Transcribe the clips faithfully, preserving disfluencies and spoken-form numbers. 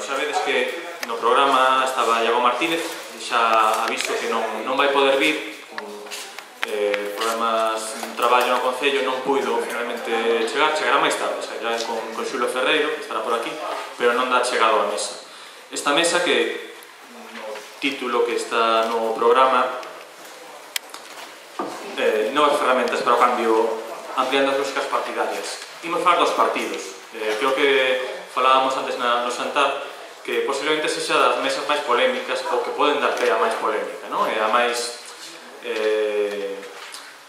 xa vedes que no programa estaba Iago Martínez, xa aviso que non, non vai poder vir, eh, problemas de traballo no Concello, non puido finalmente chegar, chegará máis tarde, xa irá con, con Xulo Ferreiro, que estará por aquí, pero non dá chegado á mesa. Esta mesa que, no título que está no programa, eh, novas ferramentas para o cambio ampliando as lógicas partidarias. Imos falar dos partidos. Eh, creo que falábamos antes na, no Santar que posiblemente sexa das mesas máis polémicas ou que poden dar pé a máis polémica, non? E a máis eh,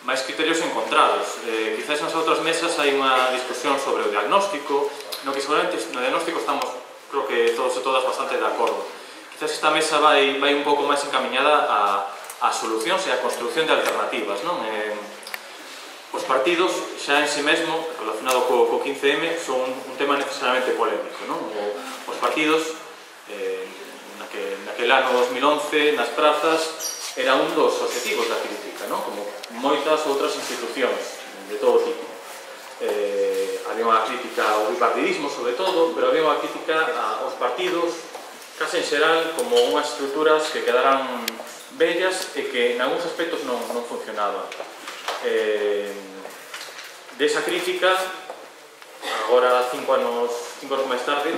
máis criterios encontrados. Eh, quizás nas outras mesas hai unha discusión sobre o diagnóstico, no que seguramente no diagnóstico estamos, creo que todos e todas, bastante de acordo. Quizás esta mesa vai, vai un pouco máis encaminhada a, a solucións e a construcción de alternativas, non? Eh, Os partidos, xa en si mesmo, relacionado co, co quince eme, son un tema necesariamente polémico, non? O, os partidos, eh, naquel, naquel ano dos mil once, nas prazas, era un dos objetivos da crítica, non? Como moitas outras institucións de todo tipo. Eh, había unha crítica ao bipartidismo, sobre todo, pero había unha crítica aos partidos, case en xeral, como unhas estruturas que quedaran bellas e que en algúns aspectos non, non funcionaban. Eh, desa crítica, agora cinco anos, cinco anos máis tarde,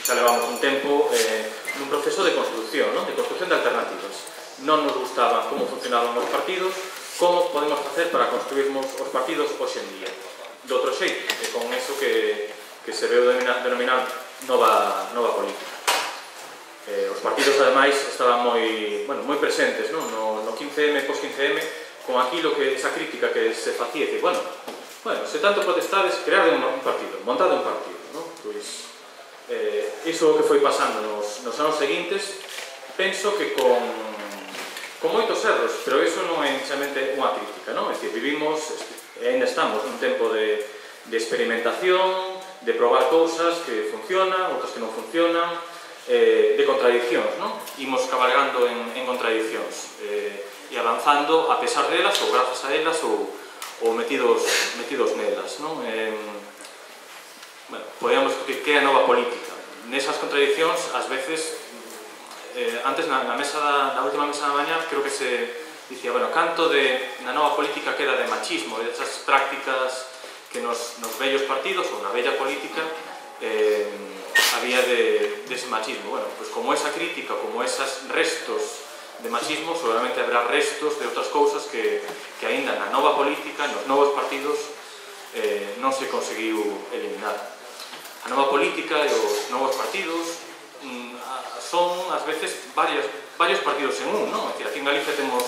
xa levamos un tempo eh, nun proceso de construcción, non? De construcción de alternativas. Non nos gustaban como funcionaban os partidos, como podemos facer para construirmos os partidos hoxe en día. De outro xeito, e con eso que, que se veu denominar, denominar nova, nova política. Eh, os partidos, ademais, estaban moi, bueno, moi presentes, non? No, no quince eme, pos quince eme, con aquilo que, esa crítica que se facía, que, bueno, bueno, se tanto protestades, creade un, un partido, montade un partido, non? Pois, eh, iso que foi pasando nos, nos anos seguintes, penso que con, con moitos erros, pero iso non é necesariamente unha crítica, non? É dicir, vivimos, e ainda estamos nun tempo de, de experimentación, de probar cousas que funcionan, outras que non funcionan, eh, de contradiccións, non? Imos cabalgando en, en contradiccións, eh, e avanzando a pesar delas ou grazas a elas ou, ou metidos, metidos nelas, non? Eh, bueno, podíamos que que é a nova política. Nesas contradiccións, ás veces, eh, antes na, na, mesa da, na última mesa da mañá, creo que se dicía, bueno, canto de, na nova política queda de machismo, e desas prácticas que nos, nos vellos partidos ou na bella política eh, había de, de ese machismo. Bueno, pues como esa crítica, como esos restos de machismo, seguramente habrá restos de outras cousas que, que aínda na nova política, nos novos partidos, eh, non se conseguiu eliminar. A nova política e os novos partidos mm, son, ás veces, varios, varios partidos en un, non? Aquí en Galicia temos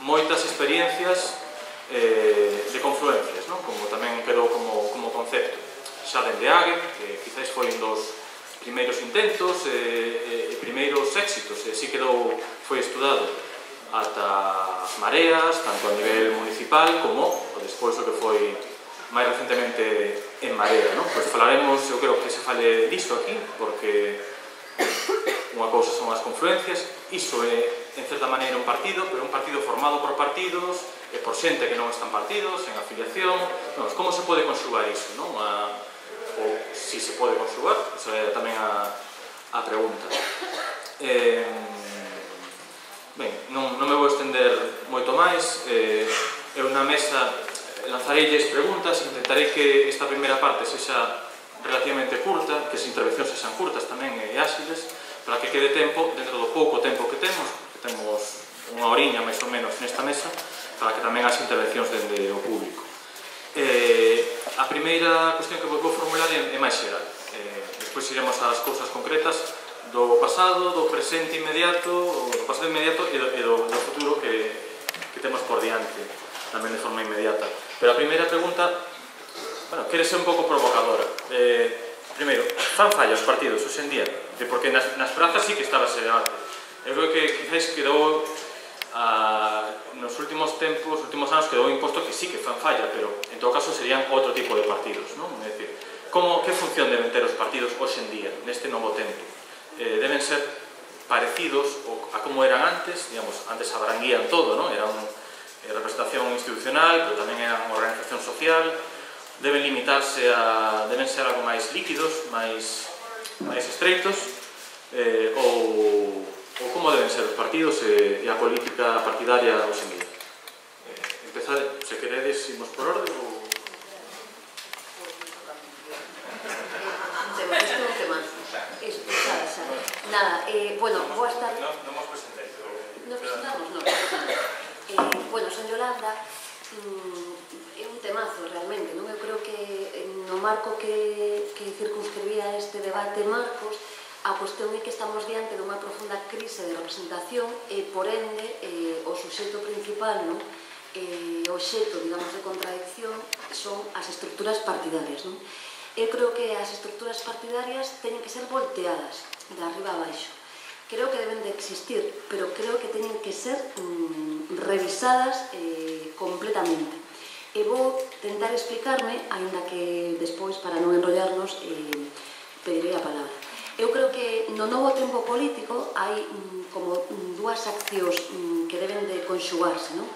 moitas experiencias eh, de confluencias, non? Como tamén quedou como, como concepto. Xa dende Ague, que quizás foi un dos primeiros intentos e, e, e primeiros éxitos, e así quedou, foi estudado ata as mareas, tanto a nivel municipal como o despois o que foi máis recentemente en Marea, non? Pois falaremos, eu creo que se fale disto aquí, porque unha cousa son as confluencias, iso é, en certa maneira, un partido, pero un partido formado por partidos e por xente que non están partidos, en afiliación, non, como se pode conxugar iso, non? A, ou si se pode conxugar, esa é tamén a, a pregunta. Eh, ben, non, non me vou estender moito máis, eh, eu na mesa lanzareilles preguntas, intentarei que esta primeira parte sexa relativamente curta, que as intervencións sexan curtas tamén e áxiles, para que quede tempo, dentro do pouco tempo que temos, que temos unha oriña máis ou menos nesta mesa, para que tamén as intervencións dende o público. Eh, a primeira cuestión que vou formular é, é máis xeral. Eh, despois iremos ás cousas concretas do pasado, do presente inmediato, do pasado inmediato e do, e do, do futuro que, que temos por diante, tamén de forma inmediata. Pero a primeira pregunta, bueno, quere ser un pouco provocadora. Eh, primeiro, fan falla os partidos hoxe en día? Porque nas, nas prazas sí que estaba ese debate. Eu creo que quizás quedou Uh, nos últimos tempos, nos últimos anos quedou imposto que sí que fan falla, pero en todo caso serían outro tipo de partidos, non? É dicir, como, que función deben ter os partidos hoxe en día, neste novo tempo? Eh, deben ser parecidos a como eran antes, digamos, antes abranguían todo, non? Eran eh, representación institucional, pero tamén eran organización social, deben limitarse a, deben ser algo máis líquidos, máis, máis estreitos, eh, ou, ou como deben ser os partidos e, e a política partidaria hoxe en día. Eh, empezade, se queredes, imos por orde ou... Nada, eh, bueno, boas tardes. Non nos presentéis. Nos presentamos, non, eh, bueno, son Yolanda, mm, é un temazo realmente, non? Eu creo que no marco que, que circunscribía este debate Marcos, a cuestión é que estamos diante dunha profunda crise de representación e, por ende, eh, o suxeito principal, non? Eh, o xeito, digamos, de contradicción son as estructuras partidarias, non? Eu creo que as estructuras partidarias teñen que ser volteadas de arriba a baixo. Creo que deben de existir, pero creo que teñen que ser mmm, revisadas eh, completamente. E vou tentar explicarme, aínda que despois, para non enrollarnos, eh, pedirei a palabra. Eu creo que no novo tempo político hai mmm, como mmm, dúas accións mmm, que deben de conxugarse, non?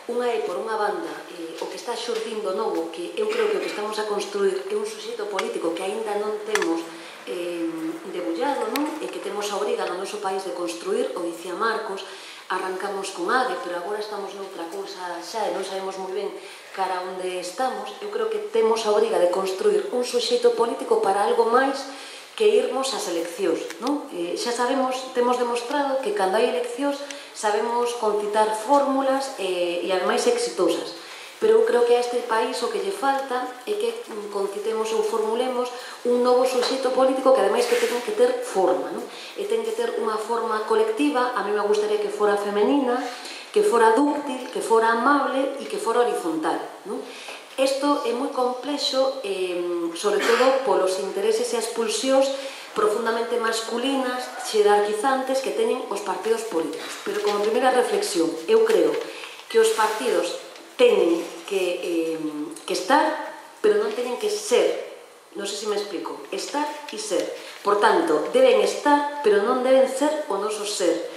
Unha é, por unha banda, eh, o que está xurdindo novo, que eu creo que o que estamos a construir é un suxeito político que aínda non temos eh, debullado, non? E que temos a obriga no noso país de construir, o dicía Marcos, arrancamos con A G E, pero agora estamos noutra cousa xa e non sabemos moi ben cara onde estamos. Eu creo que temos a obriga de construir un suxeito político para algo máis que irmos ás eleccións, non? Eh, xa sabemos, temos demostrado que cando hai eleccións sabemos concitar fórmulas e, e ademais exitosas. Pero eu creo que a este país o que lle falta é que concitemos ou formulemos un novo suxeito político que ademais que ten que ter forma, non? E ten que ter unha forma colectiva, a mí me gustaría que fora femenina, que fora dúctil, que fora amable e que fora horizontal, non? Isto é moi complexo, eh, sobre todo polos intereses e as pulsións profundamente masculinas, xerarquizantes que teñen os partidos políticos. Pero como primeira reflexión, eu creo que os partidos teñen que, eh, que estar, pero non teñen que ser. Non sei se me explico. Estar e ser. Por tanto, deben estar, pero non deben ser o noso ser.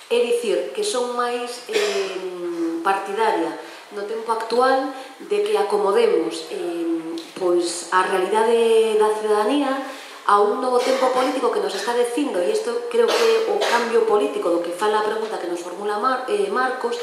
É dicir, que son máis eh, partidaria no tempo actual de que acomodemos eh, pois a realidade da ciudadanía a un novo tempo político que nos está dicindo, e isto creo que é o cambio político do que fala a pregunta que nos formula Mar, eh, Marcos,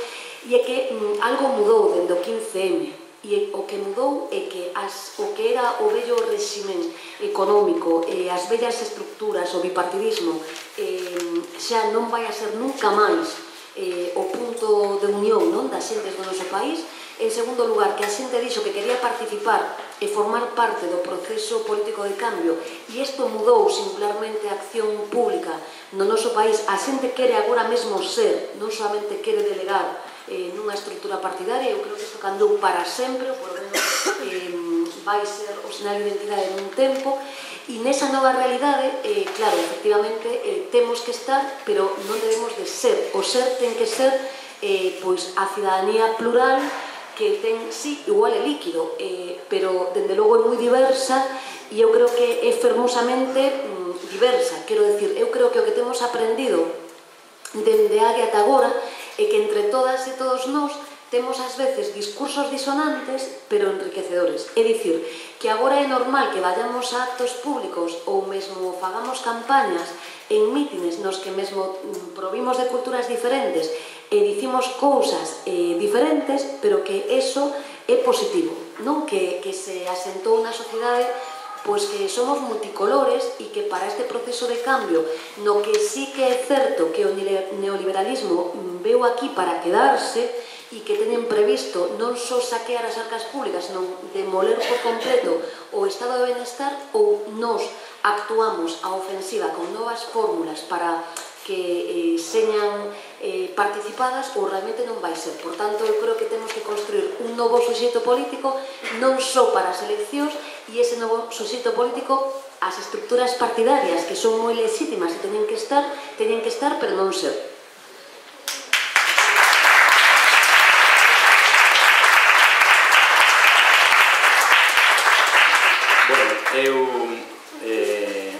e é que mm, algo mudou dende o quince eme, e o que mudou é que as, o que era o vello réximen económico, eh, as vellas estructuras, o bipartidismo, eh, xa non vai a ser nunca máis eh, o punto de unión, non, das xentes do noso país. En segundo lugar, que a xente dixo que quería participar e formar parte do proceso político de cambio, e isto mudou singularmente a acción pública no noso país. A xente quere agora mesmo ser, non solamente quere delegar eh, nunha estrutura partidaria. Eu creo que isto candou para sempre, por lo menos eh, vai ser o sinal de identidade nun tempo, e nesa nova realidade, eh, claro, efectivamente, eh, temos que estar, pero non debemos de ser. O ser ten que ser eh, pois a cidadanía plural, que ten, sí, igual é líquido, eh, pero, dende logo, é moi diversa, e eu creo que é fermosamente mm, diversa. Quero decir, eu creo que o que temos aprendido dende A G E ata agora é que entre todas e todos nós temos ás veces discursos disonantes pero enriquecedores. É dicir, que agora é normal que vayamos a actos públicos ou mesmo fagamos campañas en mítines nos que mesmo provimos de culturas diferentes e dicimos cousas eh, diferentes, pero que eso é positivo, non? Que, que se asentou na sociedade pois que somos multicolores e que para este proceso de cambio, no que sí que é certo que o neoliberalismo veu aquí para quedarse e que teñen previsto non só saquear as arcas públicas, senón demoler por completo o estado de benestar, ou nos actuamos a ofensiva con novas fórmulas para que eh, señan eh, participadas, ou realmente non vai ser. Por tanto, eu creo que temos que construir un novo suxeito político non só para as eleccións, e ese novo suxeito político, as estructuras partidarias, que son moi legítimas e teñen que estar, teñen que estar, pero non ser. Bueno, eu... Eh,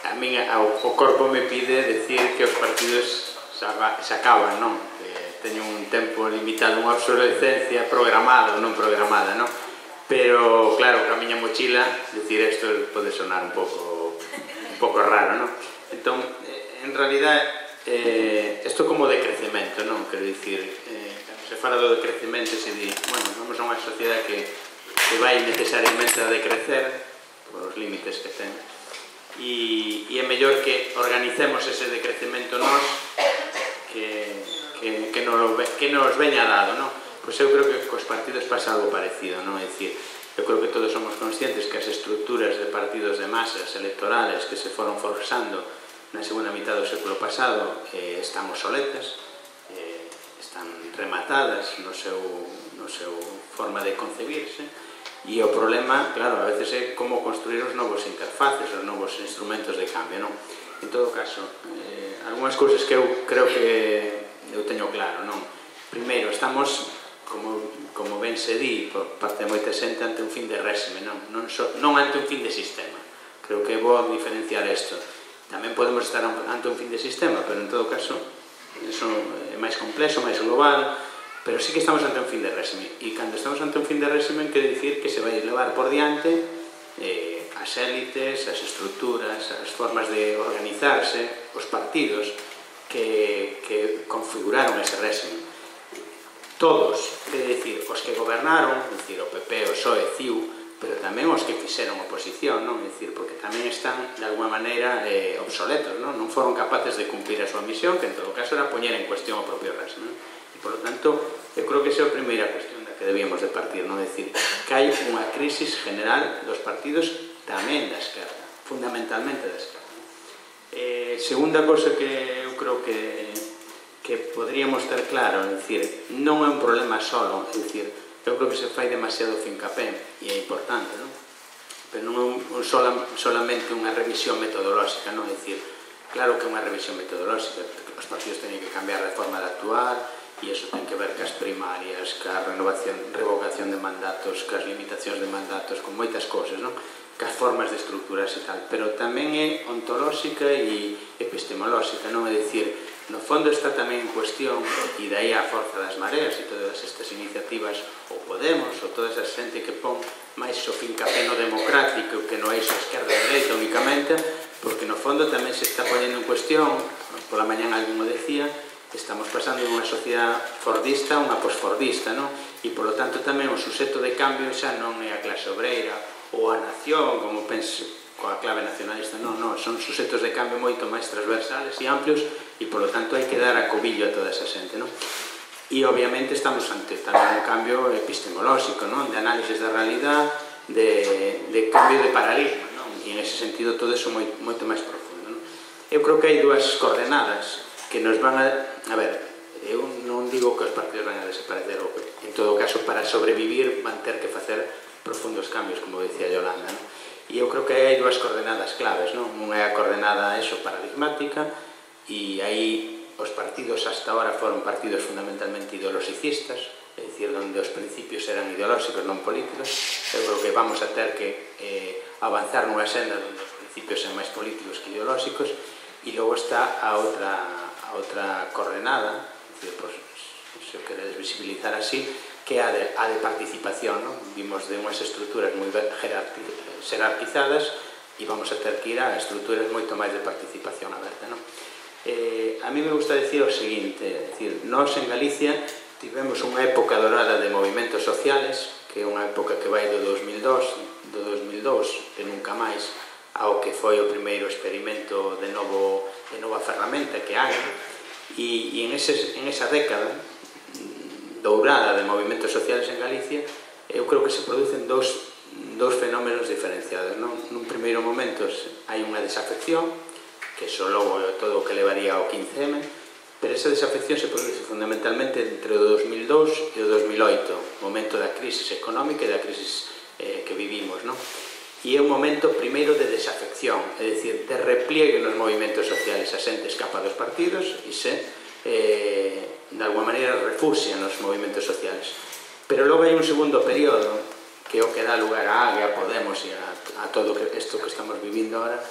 a min o corpo me pide decir que os partidos se acaban, non? Que teñen un tempo limitado, unha obsolescencia programada ou non programada, non? Pero, claro, que a miña mochila, decir isto pode sonar un pouco un pouco raro, non? Entón, en realidad, isto como decrecemento, non? Quero dicir, cando se fala do decrecemento se di, bueno, vamos a unha sociedade que vai necesariamente a decrecer por os límites que ten, e é mellor que organicemos ese decrecemento nós que nos veña dado, non? Pois eu creo que cos partidos pasa algo parecido, non? É dicir, eu creo que todos somos conscientes que as estructuras de partidos de masas electorales que se foron forzando na segunda mitad do século pasado están obsoletas, están rematadas no seu forma de concebirse, e o problema, claro, a veces é como construir os novos interfaces, os novos instrumentos de cambio, non? En todo caso, algunhas cousas que eu creo que eu teño claro, non? Primeiro, estamos, como ben se di por parte de moita xente, ante un fin de réxime, non ante un fin de sistema. Creo que é bo diferenciar isto. Tamén podemos estar ante un fin de sistema, pero en todo caso, iso é máis complexo, máis global, pero sí que estamos ante un fin de réxime. E cando estamos ante un fin de réxime, quere dicir que se vai levar por diante as élites, as estructuras, as formas de organizarse, os partidos que configuraron ese réxime. Todos, quere dicir, os que gobernaron, é dicir, o P P, o P S O E, C I U, pero tamén os que fixeron oposición, non? É dicir, porque tamén están, de alguma maneira, obsoletos, non? Non foron capaces de cumplir a súa misión, que en todo caso era poñer en cuestión o propio réxime. E, por lo tanto, eu creo que esa é a primeira cuestión da que debíamos de partir, non? É dicir, que hai unha crisis general dos partidos tamén da esquerda, fundamentalmente da esquerda. Segunda cosa que eu creo que que podríamos ter claro, é dicir, non é un problema solo, é dicir, eu creo que se fai demasiado fincapé, e é importante, non? Pero non é solamente unha revisión metodolóxica, non? É dicir, claro que é unha revisión metodolóxica, os partidos teñen que cambiar de forma de actuar, e iso ten que ver cas primarias, cas revocación de mandatos, cas limitacións de mandatos, con moitas cosas, non? Cas formas de estructuras e tal, pero tamén é ontolóxica e epistemolóxica, non? É dicir, no fondo está tamén en cuestión, e dai a forza das mareas e todas estas iniciativas, ou Podemos, ou toda esa xente que pon máis o fincapé no democrático que no é iso esquerda e dereita únicamente, porque no fondo tamén se está poñendo en cuestión, pola mañán alguén o decía, estamos pasando de unha sociedade fordista a unha posfordista, non? E, polo tanto, tamén o suxeto de cambio xa non é a clase obreira ou a nación, como penso, coa clave nacionalista, non, non, son suxetos de cambio moito máis transversales e amplios, e, polo tanto, hai que dar acobillo a toda esa xente, non? E, obviamente, estamos ante tamén un cambio epistemolóxico, non? De análisis da realidade, de cambio de paradigma, non? E, en ese sentido, todo iso moito máis profundo, non? Eu creo que hai dúas coordenadas que nos van a... A ver, eu non digo que os partidos van a desaparecer, ou en todo caso, para sobrevivir, van ter que facer profundos cambios, como decía Yolanda, non? E eu creo que hai dúas coordenadas claves, non? Unha é a coordenada eso paradigmática, e aí os partidos hasta ahora foron partidos fundamentalmente ideoloxicistas, é dicir, onde os principios eran ideolóxicos, non políticos. Eu creo que vamos a ter que avanzar nunha senda onde os principios son máis políticos que ideolóxicos, e logo está a outra coordenada, se o queredes visibilizar así, que é a de participación, non? Vimos de unhas estruturas moi xerarquizadas e vamos a ter que ir a estruturas moito máis de participación aberta, non? A mí me gusta dicir o seguinte, é dicir, nós en Galicia tivemos unha época dorada de movimentos sociales, que é unha época que vai do dos mil dous, do dos mil dous, que nunca máis, ao que foi o primeiro experimento de nova ferramenta que hai, e en esa década dourada de movimentos sociales en Galicia, eu creo que se producen dous fenómenos diferenciados, non? Nun primeiro momento hai unha desafección, que iso logo é todo o que levaría ao quince eme, pero esa desafección se produce fundamentalmente entre o dos mil dous e o dos mil oito, momento da crisis económica e da crisis que vivimos, non? E é un momento primeiro de desafección, é dicir, de repliegue nos movimentos sociales. A xente escapa dos partidos e se, de alguma maneira, refuxia nos movimentos sociales. Pero logo hai un segundo período, que é o que dá lugar a A G, a Podemos e a todo isto que estamos vivindo agora,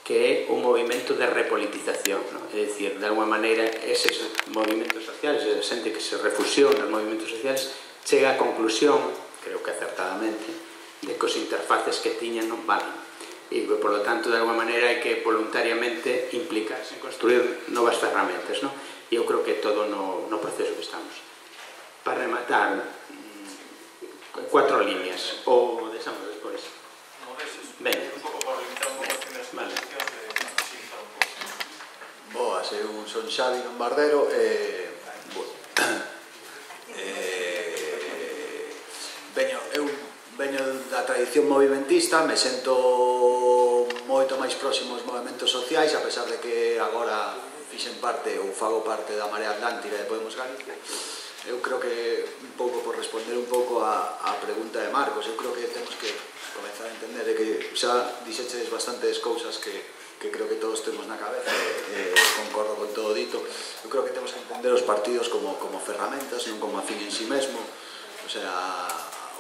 que é un movimento de repolitización, é dicir, de alguma maneira, eses movimentos sociales, esa xente que se refuxiou nos movimentos sociales, chega á conclusión, creo que acertadamente, de que os interfaces que tiñan non valen. e, por lo tanto, de alguma maneira hai que voluntariamente implicarse en construir novas ferramentas, non? E eu creo que todo no, no proceso que estamos. Para rematar, mmm, cuatro líneas, ou deixamos despois. Venga. Un pouco por limitar un pouco as primeiras intervencións de facilitar un pouco. Boas, eu son Xavi Lombardero e... Bueno, eh, veño, eu veño da tradición movimentista, me sento moito máis próximo aos movimentos sociais, a pesar de que agora fixen parte ou fago parte da Marea Atlántica de Podemos Galicia. Eu creo que, un pouco por responder un pouco a, a pregunta de Marcos, eu creo que temos que comenzar a entender que xa dixeches bastantes cousas que, que creo que todos temos na cabeza, e, e concordo con todo dito. Eu creo que temos que entender os partidos como, como ferramentas, non como a fin en si mesmo. O sea,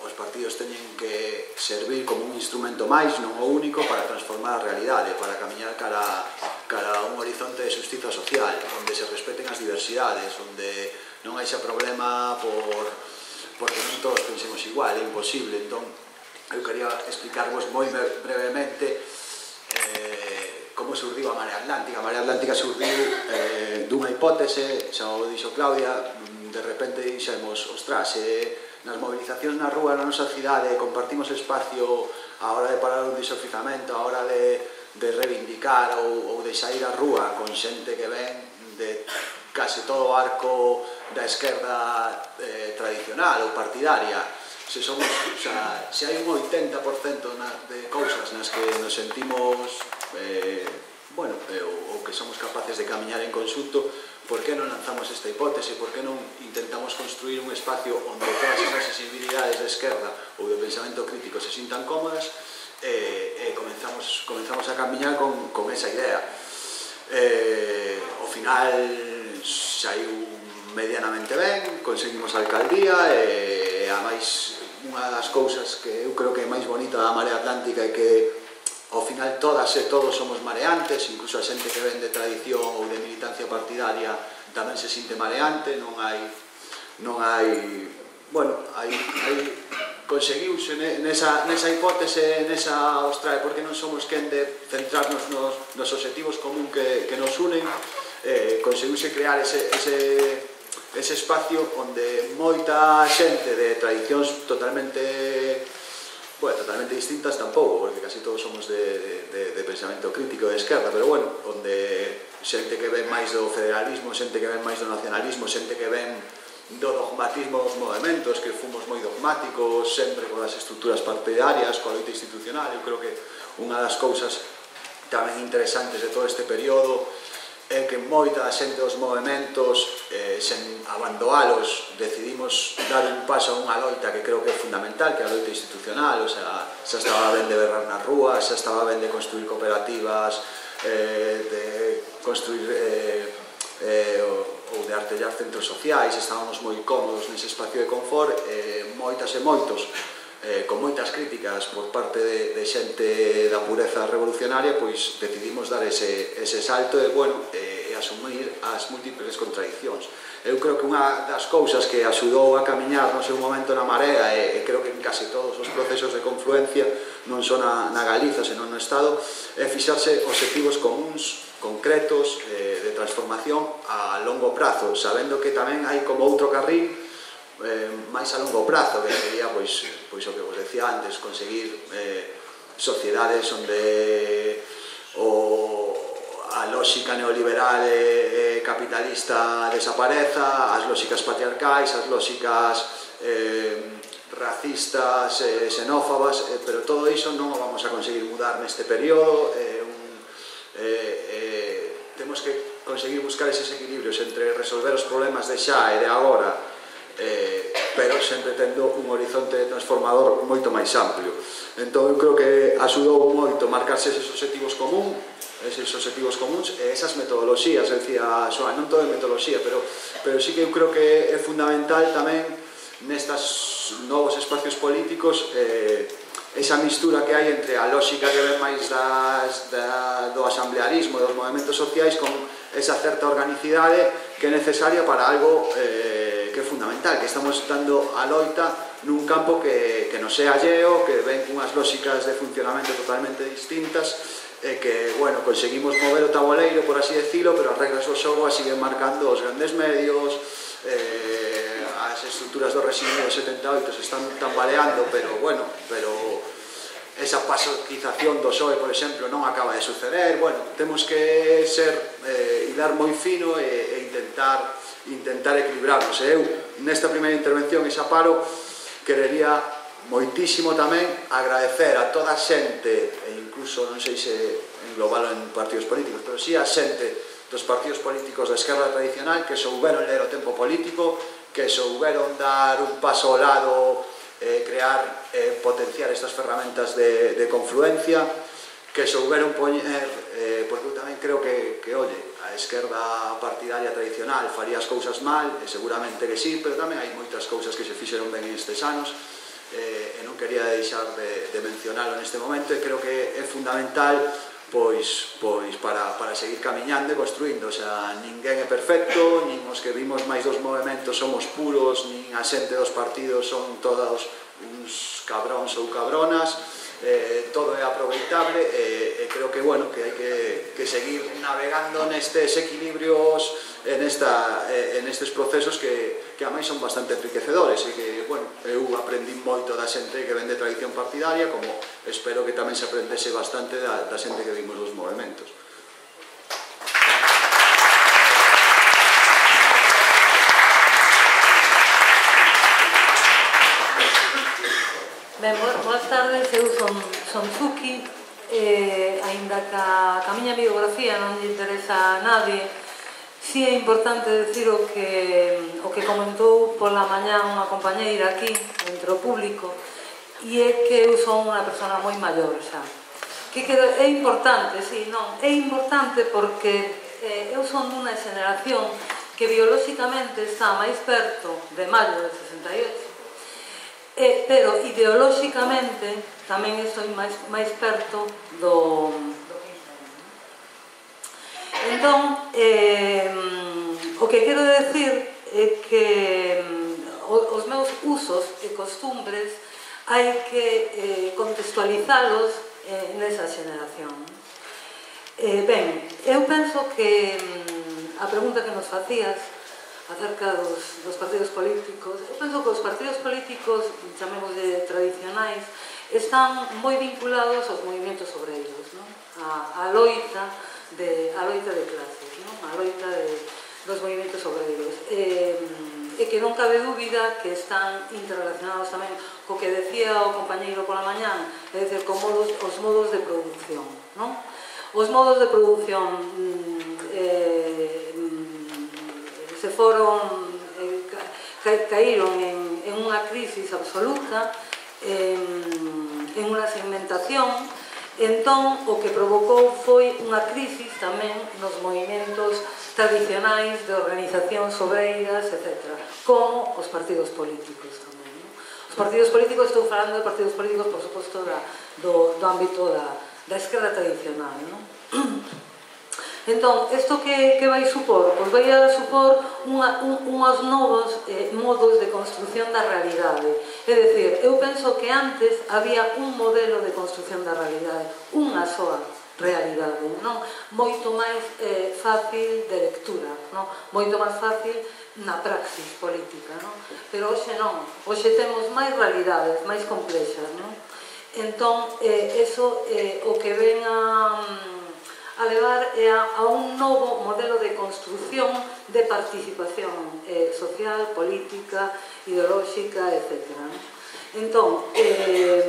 os partidos teñen que servir como un instrumento máis, non o único, para transformar a realidade, para camiñar cara, cara a un horizonte de xustiza social, onde se respeten as diversidades, onde non hai xa problema por, porque non todos pensemos igual, é imposible. Entón, eu quería explicarvos moi brevemente eh, como surdiu a Marea Atlántica. A Marea Atlántica surdiu eh, dunha hipótese, xa o dixo Claudia, de repente dixemos, ostras, eh, nas movilizacións na rúa na nosa cidade compartimos espacio a hora de parar un disofizamento, a hora de, de reivindicar ou, ou de sair á rúa con xente que ven de case todo o arco da esquerda eh, tradicional ou partidaria. Se somos, o sea, se hai un oitenta por cento na, de cousas nas que nos sentimos eh, bueno, eh, ou, ou que somos capaces de camiñar en conxunto, por que non lanzamos esta hipótese? Por que non intentamos construir un espacio onde todas esas sensibilidades de esquerda ou de pensamento crítico se sintan cómodas e, e comenzamos, comenzamos a camiñar con, con esa idea. Eh, ao final saiu medianamente ben, conseguimos a alcaldía e a máis unha das cousas que eu creo que é máis bonita da Marea Atlántica é que ao final todas e todos somos mareantes, incluso a xente que ven de tradición ou de militancia partidaria tamén se sinte mareante, non hai non hai, bueno, hai, hai conseguiuse nesa, nesa hipótese, nesa, ostra, porque non somos quen de centrarnos nos, nos obxectivos común que, que nos unen, eh, conseguiuse crear ese, ese, ese espacio onde moita xente de tradicións totalmente, bueno, totalmente distintas tampouco, porque casi todos somos de, de, de pensamento crítico de esquerda, pero bueno, onde xente que ven máis do federalismo, xente que ven máis do nacionalismo, xente que ven do dogmatismo dos movimentos, que fomos moi dogmáticos sempre con as estruturas partidarias, coa loita institucional. Eu creo que unha das cousas tamén interesantes de todo este período é que moita da xente dos movimentos, eh, sen abandonalos, decidimos dar un paso a unha loita que creo que é fundamental, que é a loita institucional. O sea, xa estaba ben de berrar nas rúas, xa estaba ben de construir cooperativas, eh, de construir eh, eh, ou de artellar centros sociais. Estábamos moi cómodos nese espacio de confort, eh, moitas e moitos, eh, con moitas críticas por parte de, de xente da pureza revolucionaria, pois decidimos dar ese, ese salto e, bueno, e, e asumir as múltiples contradiccións. Eu creo que unha das cousas que axudou a camiñar no seu momento na Marea, e, e creo que en case todos os procesos de confluencia, non só na, na Galiza, senón no Estado, é fixarse obxectivos comuns, concretos, eh, de transformación a longo prazo, sabendo que tamén hai como outro carril eh, máis a longo prazo, que sería, pois, pois o que vos decía antes, conseguir eh, sociedades onde o, a lógica neoliberal e, e capitalista desapareza, as lógicas patriarcais, as lógicas eh, racistas, eh, xenófobas, eh, pero todo iso non o vamos a conseguir mudar neste período. eh, un, eh, eh, temos que conseguir buscar eses equilibrios entre resolver os problemas de xa e de agora, eh, pero sempre tendo un horizonte transformador moito máis amplio. Entón eu creo que axudou moito marcarse eses obxectivos común, eses obxectivos comuns e esas metodoloxías. Decía Xoan, non todo é metodoloxía, pero, pero sí que eu creo que é fundamental tamén nestas novos espacios políticos eh, esa mistura que hai entre a lógica que ven máis das, da, do asamblearismo, dos movimentos sociais, con esa certa organicidade que é necesaria para algo eh, que é fundamental, que estamos dando a loita nun campo que, que nos é alleo, que ven cunhas lógicas de funcionamento totalmente distintas, e que, bueno, conseguimos mover o tabuleiro, por así decirlo, pero as regras do xogo as siguen marcando os grandes medios, eh, as estruturas do réxime do setenta e oito se están tambaleando, pero, bueno, pero esa pasoquización do P S O E, por exemplo, non acaba de suceder. Bueno, temos que ser, eh, hilar moi fino e, e intentar, intentar equilibrarnos. Eu, nesta primeira intervención, e xa paro, querería moitísimo tamén agradecer a toda a xente, e incluso non sei se englobalo en partidos políticos, pero sí a xente dos partidos políticos da esquerda tradicional que souberon ler o tempo político, que souberon dar un paso ao lado, eh, crear, eh, potenciar estas ferramentas de, de confluencia, que souberon poñer, eh, porque eu tamén creo que, que oye, a esquerda partidaria tradicional faría as cousas mal, e seguramente que sí, pero tamén hai moitas cousas que se fixeron ben estes anos, eh, e non quería deixar de, de mencionalo neste momento, e creo que é fundamental pois, pois para, para seguir camiñando e construindo. O sea, ninguén é perfecto, nin os que vimos máis dos movimentos somos puros, nin a xente dos partidos son todos uns cabróns ou cabronas, eh, todo é aproveitable, e, e creo que, bueno, que hai que, que seguir navegando nestes equilibrios, en, esta, en estes procesos que, que a máis son bastante enriquecedores, e que, bueno, eu aprendí moito da xente que ven de tradición partidaria, como espero que tamén se aprendese bastante da, da xente que vimos dos movimentos. Ben, boas tardes, eu son, son Zuki, eh, ainda que a, que a miña biografía non lle interesa a nadie, si é importante decir o que, o que comentou pola mañá unha compañeira aquí, entre o público, e é que eu son unha persona moi maior xa. Que, que é importante, si, non, é importante porque eh, eu son dunha xeneración que biolóxicamente está máis perto de maio del sesenta e oito, eh, pero ideolóxicamente tamén estou máis, máis perto do... Entón, eh, o que quero decir é que os meus usos e costumbres hai que eh, contextualizalos eh, nesa xeneración. Eh, ben, eu penso que a pregunta que nos facías acerca dos, dos partidos políticos, eu penso que os partidos políticos, chamémoslle tradicionais, están moi vinculados aos movimentos obreiros, non? A, a loita de, a loita de clases, non? A loita de, dos movimentos obreiros. E, e que non cabe dúbida que están interrelacionados tamén co que decía o compañeiro pola mañán, é dicir, con modos, os modos de produción, non? Os modos de produción eh, se foron, eh, ca, caíron en, en unha crisis absoluta, en, en unha segmentación. Entón, o que provocou foi unha crisis tamén nos movimentos tradicionais de organizacións obreiras, etcétera, como os partidos políticos tamén. Non? Os partidos políticos, estou falando de partidos políticos, por suposto, da, do, do ámbito da, da esquerda tradicional. Non? Entón, isto que, que vai supor? Pois vai a supor unha, un, unhos novos eh, modos de construción da realidade. É dicir, eu penso que antes había un modelo de construción da realidade, unha soa realidade, non? Moito máis eh, fácil de lectura, non? Moito máis fácil na praxis política, non? Pero hoxe non, hoxe temos máis realidades, máis complexas, non? Entón, eh, eso eh, o que ven a... a levar a, a un novo modelo de construción de participación eh, social, política, ideolóxica, etcétera. Entón, eh,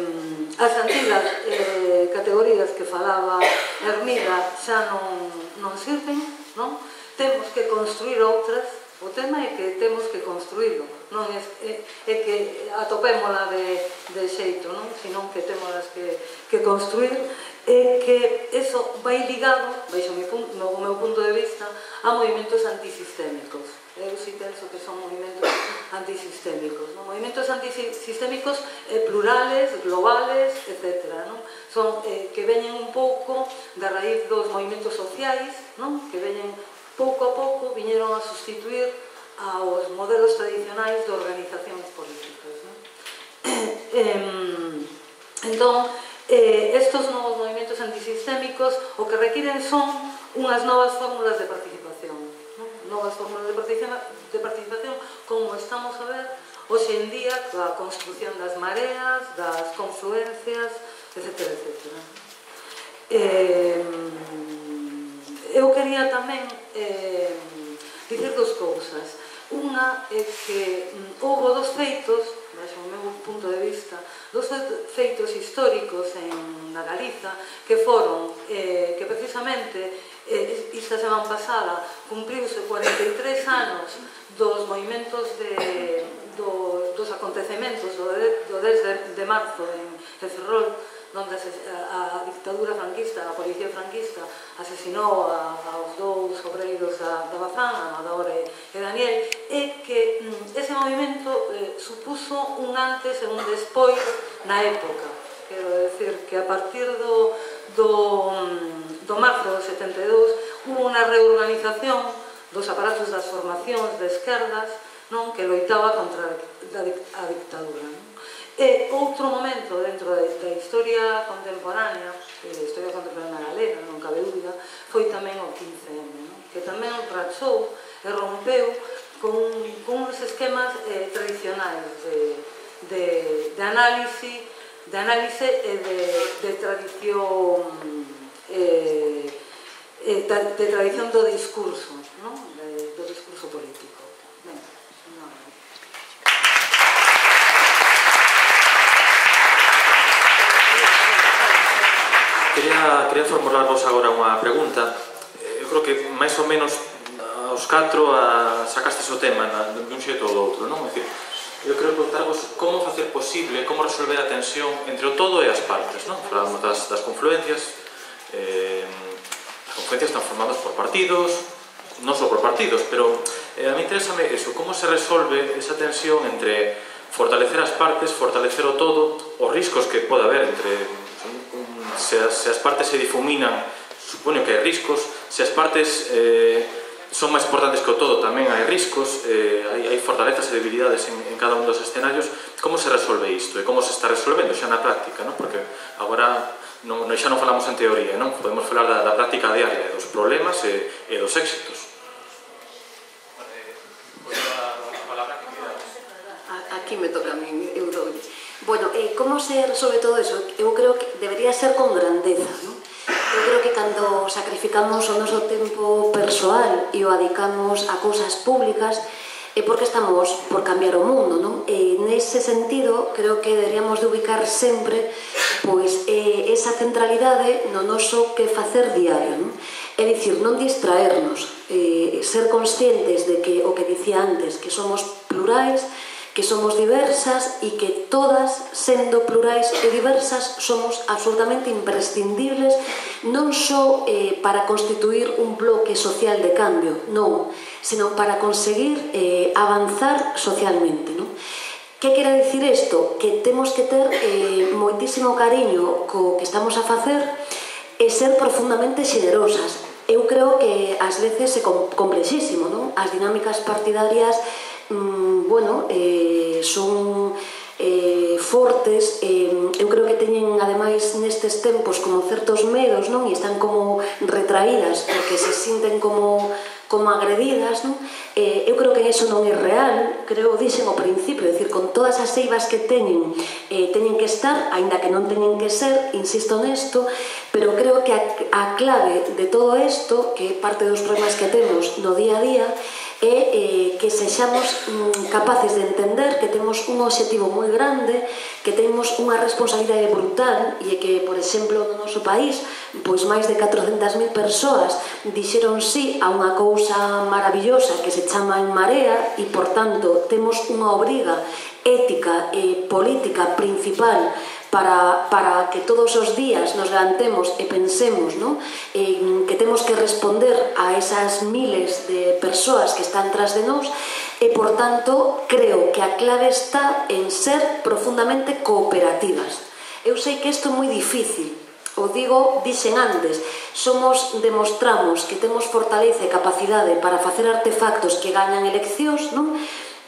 as antigas eh, categorías que falaba Hermida xa non, non sirven, non? Temos que construir outras. O tema é que temos que construílo, non é, é, é que atopémola de, de xeito, non? Senón que temos que, que construir, é que eso vai ligado, baixo o meu, o meu punto de vista, a movimentos antisistémicos. Eu si penso que son movimentos antisistémicos, non? Movimentos antisistémicos eh, plurales, globales, etcétera, non? Son eh, que veñen un pouco da raíz dos movimentos sociais, non? Que veñen pouco a pouco, viñeron a sustituir aos modelos tradicionais de organizacións políticas. Non? Entón, estes novos movimentos antisistémicos o que requiren son unhas novas fórmulas de participación. Novas fórmulas de participación, como estamos a ver hoxe en día, coa construción das mareas, das confluencias, etcétera, etcétera. Eu quería tamén dicir dos cousas. Unha é que houve dos feitos, desde o meu punto de vista, dos feitos históricos na Galiza que foron que precisamente esta semana pasada cumpriuse cuarenta e tres anos dos movimentos dos acontecementos do dez de marzo en Ferrol, onde a dictadura franquista, a policía franquista asesinou aos dous obreiros da Bazán, Amador e Daniel, é que ese movimento supuso un antes e un despois na época. Quero decir que a partir do marzo do setenta e dous hubo unha reorganización dos aparatos das formacións de esquerdas que loitaba contra a dictadura. E outro momento dentro da historia contemporánea, da historia contemporánea galega, non cabe dúbida, foi tamén o quince eme, que tamén rachou e rompeu con uns esquemas tradicionais de análise de análise e de tradición de tradición do discurso, do discurso político. Quería, quería formularvos agora unha pregunta. Eu creo que máis ou menos aos catro a, sacastes o tema na, de un xeito ou do outro, non? É dicir, eu quero preguntarvos como facer posible, como resolver a tensión entre o todo e as partes, non? Falamos das, das confluencias, eh, as confluencias están formadas por partidos, non só por partidos, pero eh, a mí interésame eso, como se resolve esa tensión entre fortalecer as partes, fortalecer o todo, os riscos que pode haber entre... Se as, se as partes se difuminan, supoño que hai riscos. Se as partes eh, son máis importantes que o todo, tamén hai riscos, eh, hai, hai fortalezas e debilidades en, en cada un dos escenarios. Como se resolve isto? E como se está resolvendo xa na práctica, non? Porque agora non, xa non falamos en teoría, non? Podemos falar da, da práctica diaria, dos problemas e, e dos éxitos. Aquí me toca a mí, eu dou. Bueno, eh, como se resolve todo eso? Eu creo que debería ser con grandeza, non? Eu creo que cando sacrificamos o noso tempo persoal e o adicamos a cousas públicas é porque estamos por cambiar o mundo, non? E nese sentido, creo que deberíamos de ubicar sempre pois, eh, esa centralidade no noso que facer diario, non? É dicir, non distraernos, eh, ser conscientes de que o que dicía antes, que somos plurais, que somos diversas e que todas, sendo plurais e diversas, somos absolutamente imprescindibles non só eh, para constituir un bloque social de cambio, non, senón para conseguir eh, avanzar socialmente, non? Que quere dicir isto? Que temos que ter eh, moitísimo cariño co que estamos a facer e ser profundamente xenerosas. Eu creo que ás veces é complexísimo, non? As dinámicas partidarias Mm, bueno, eh, son eh, fortes, eh, eu creo que teñen ademais nestes tempos como certos medos, non? E están como retraídas porque se sinten como, como agredidas, non? Eh, eu creo que eso non é real, creo, dixen ao principio, é dicir, con todas as eivas que teñen, eh, teñen que estar, aínda que non teñen que ser, insisto nesto, pero creo que a, a clave de todo isto, que é parte dos problemas que temos no día a día, é eh, que sexamos mm, capaces de entender que temos un obxectivo moi grande, que temos unha responsabilidade brutal e que, por exemplo, no noso país pois máis de catrocentas mil persoas dixeron sí a unha cousa maravillosa que se chama En Marea e, por tanto, temos unha obriga ética e política principal para, para que todos os días nos levantemos e pensemos, ¿no? eh, que temos que responder a esas miles de persoas que están tras de nós e, por tanto, creo que a clave está en ser profundamente cooperativas. Eu sei que isto é moi difícil, O digo, dixen antes, somos, demostramos que temos fortaleza e capacidade para facer artefactos que gañan eleccións, non?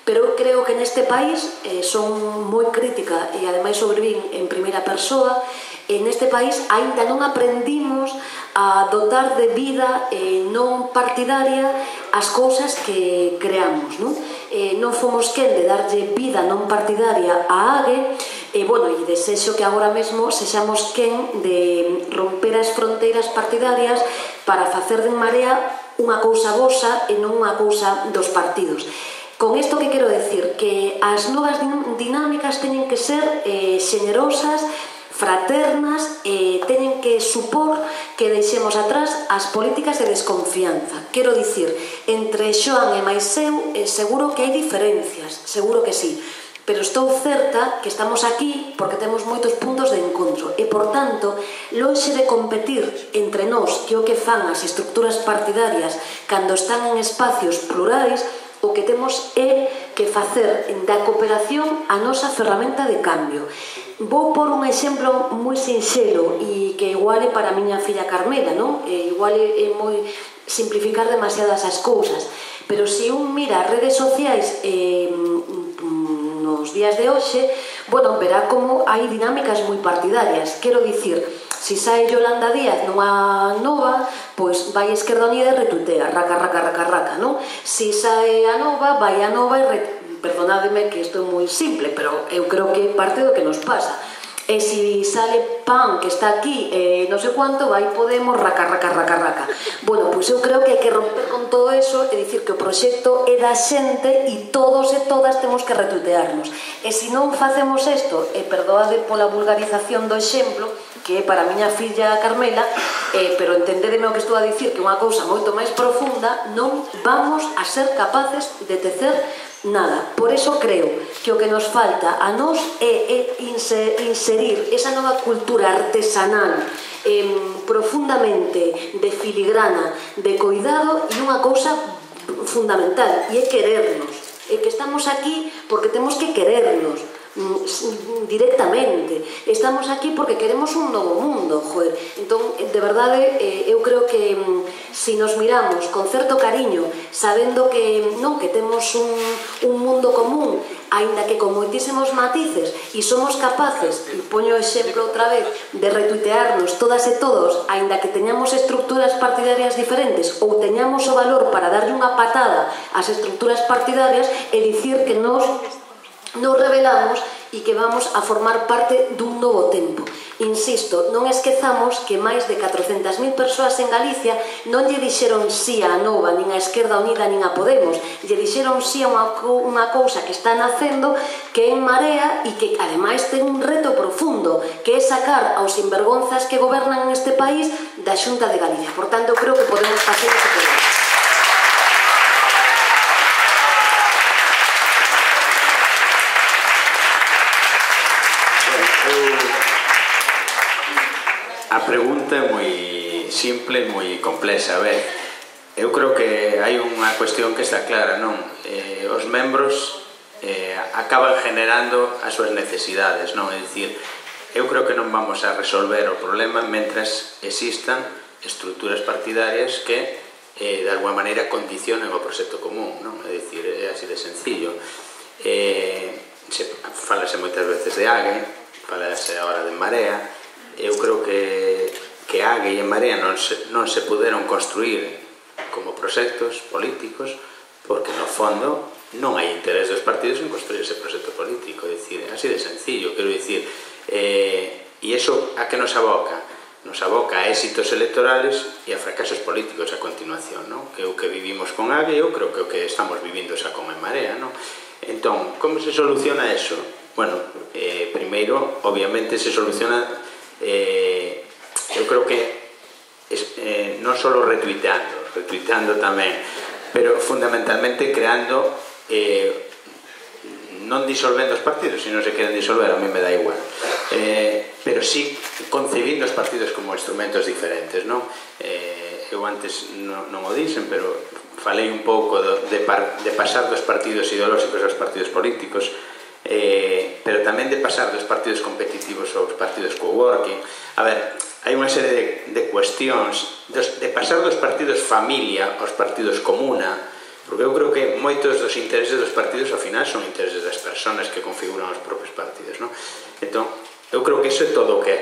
Pero eu creo que neste país, eh, son moi crítica e ademais sobrevín en primeira persoa, e neste país aínda non aprendimos a dotar de vida eh, non partidaria as cousas que creamos, non? Eh, non fomos quen de darlle vida non partidaria a AGE, e, bueno, e desexo que agora mesmo sexamos quen de romper as fronteiras partidarias para facer de En Marea unha cousa vosa e non unha cousa dos partidos. Con isto que quero decir? Que as novas dinámicas teñen que ser eh, xenerosas, fraternas, e teñen que supor que deixemos atrás as políticas de desconfianza. Quero dicir, entre Xoan e máis eu, eh, seguro que hai diferencias, seguro que sí, pero estou certa que estamos aquí porque temos moitos puntos de encontro e, por tanto, lonxe de competir entre nós que o que fan as estructuras partidarias cando están en espacios plurais, o que temos é que facer da cooperación a nosa ferramenta de cambio. Vou por un exemplo moi sinxelo e que igual é para a miña filla Carmela, non? E igual é moi simplificar demasiadas as cousas, pero se un mira as redes sociais eh, nos días de hoxe, bueno, verá como hai dinámicas moi partidarias. Quero dicir, se sae Yolanda Díaz nunha nova, pois vai a Esquerda Unida e retuitea, raca, raca, raca, raca, non? Se sae a nova, vai a nova e retuitea. Perdonádeme que isto é moi simple, pero eu creo que parte do que nos pasa. E se sale P A N, que está aquí, eh, non sei quanto, vai Podemos, raca, raca, raca, raca. Bueno, pois eu creo que hai que romper con todo eso e dicir que o proxecto é da xente e todos e todas temos que retuitearnos. E se non facemos isto, e perdoade pola vulgarización do exemplo, que é para a miña filla Carmela, eh, pero entendedeme o que estou a dicir, que é unha cousa moito máis profunda, non vamos a ser capaces de tecer nada. Por eso creo que o que nos falta a nós é, é inserir esa nova cultura artesanal eh, profundamente de filigrana, de cuidado, e unha cousa fundamental, e é querernos. É que estamos aquí porque temos que querernos directamente. Estamos aquí porque queremos un novo mundo, joder. Entón, de verdade, eh, eu creo que se nos miramos con certo cariño, sabendo que non que temos un, un mundo común, aínda que con moitísimos matices, e somos capaces, e poño o exemplo outra vez, de retuitearnos todas e todos, aínda que teñamos estructuras partidarias diferentes ou teñamos o valor para darlle unha patada ás estructuras partidarias e dicir que nos nos revelamos e que vamos a formar parte dun novo tempo. Insisto, non esquezamos que máis de catrocentas mil persoas en Galicia non lle dixeron sí a Nova, nin a Esquerda Unida, nin a Podemos, lle dixeron sí a unha, unha cousa que está nacendo, que é En Marea, e que ademais ten un reto profundo, que é sacar aos sinvergonzas que gobernan neste país da Xunta de Galicia. Por tanto, creo que podemos facer ese problema. A pregunta é moi simple, moi complexa. A ver, eu creo que hai unha cuestión que está clara, non? Eh, os membros eh, acaban generando as súas necesidades, non? É dicir, eu creo que non vamos a resolver o problema mentras existan estruturas partidarias que eh, de alguma maneira condicionen o proxecto común, non? É dicir, é así de sencillo. Eh, se, falase moitas veces de AGE, falase agora de En Marea. Eu creo que, que AGE e En Marea non se, non se puderon construir como proxectos políticos porque no fondo non hai interés dos partidos en construir ese proxecto político. É dicir, así de sencillo, quero dicir, eh, e iso a que nos aboca? Nos aboca a éxitos electorales e a fracasos políticos a continuación, non? Que é o que vivimos con AGE, eu creo que é o que estamos vivindo xa con En Marea, non? Entón, como se soluciona eso? Bueno, eh, primeiro, obviamente, se soluciona, eh, eu creo que es, eh, non só retuiteando, retuiteando tamén, pero fundamentalmente creando, eh, non disolvendo os partidos, se non se queren disolver, a mí me dá igual, eh, pero sí concebindo os partidos como instrumentos diferentes, non? Eh, eu antes non, non o dixen, pero falei un pouco de, de, par, de pasar dos partidos ideolóxicos aos partidos políticos, eh, pero tamén de pasar dos partidos competitivos aos partidos co-working. A ver, hai unha serie de, de cuestións dos, de pasar dos partidos familia aos partidos comuna, porque eu creo que moitos dos intereses dos partidos ao final son intereses das persoas que configuran os propios partidos, non? Entón, eu creo que iso é todo o que,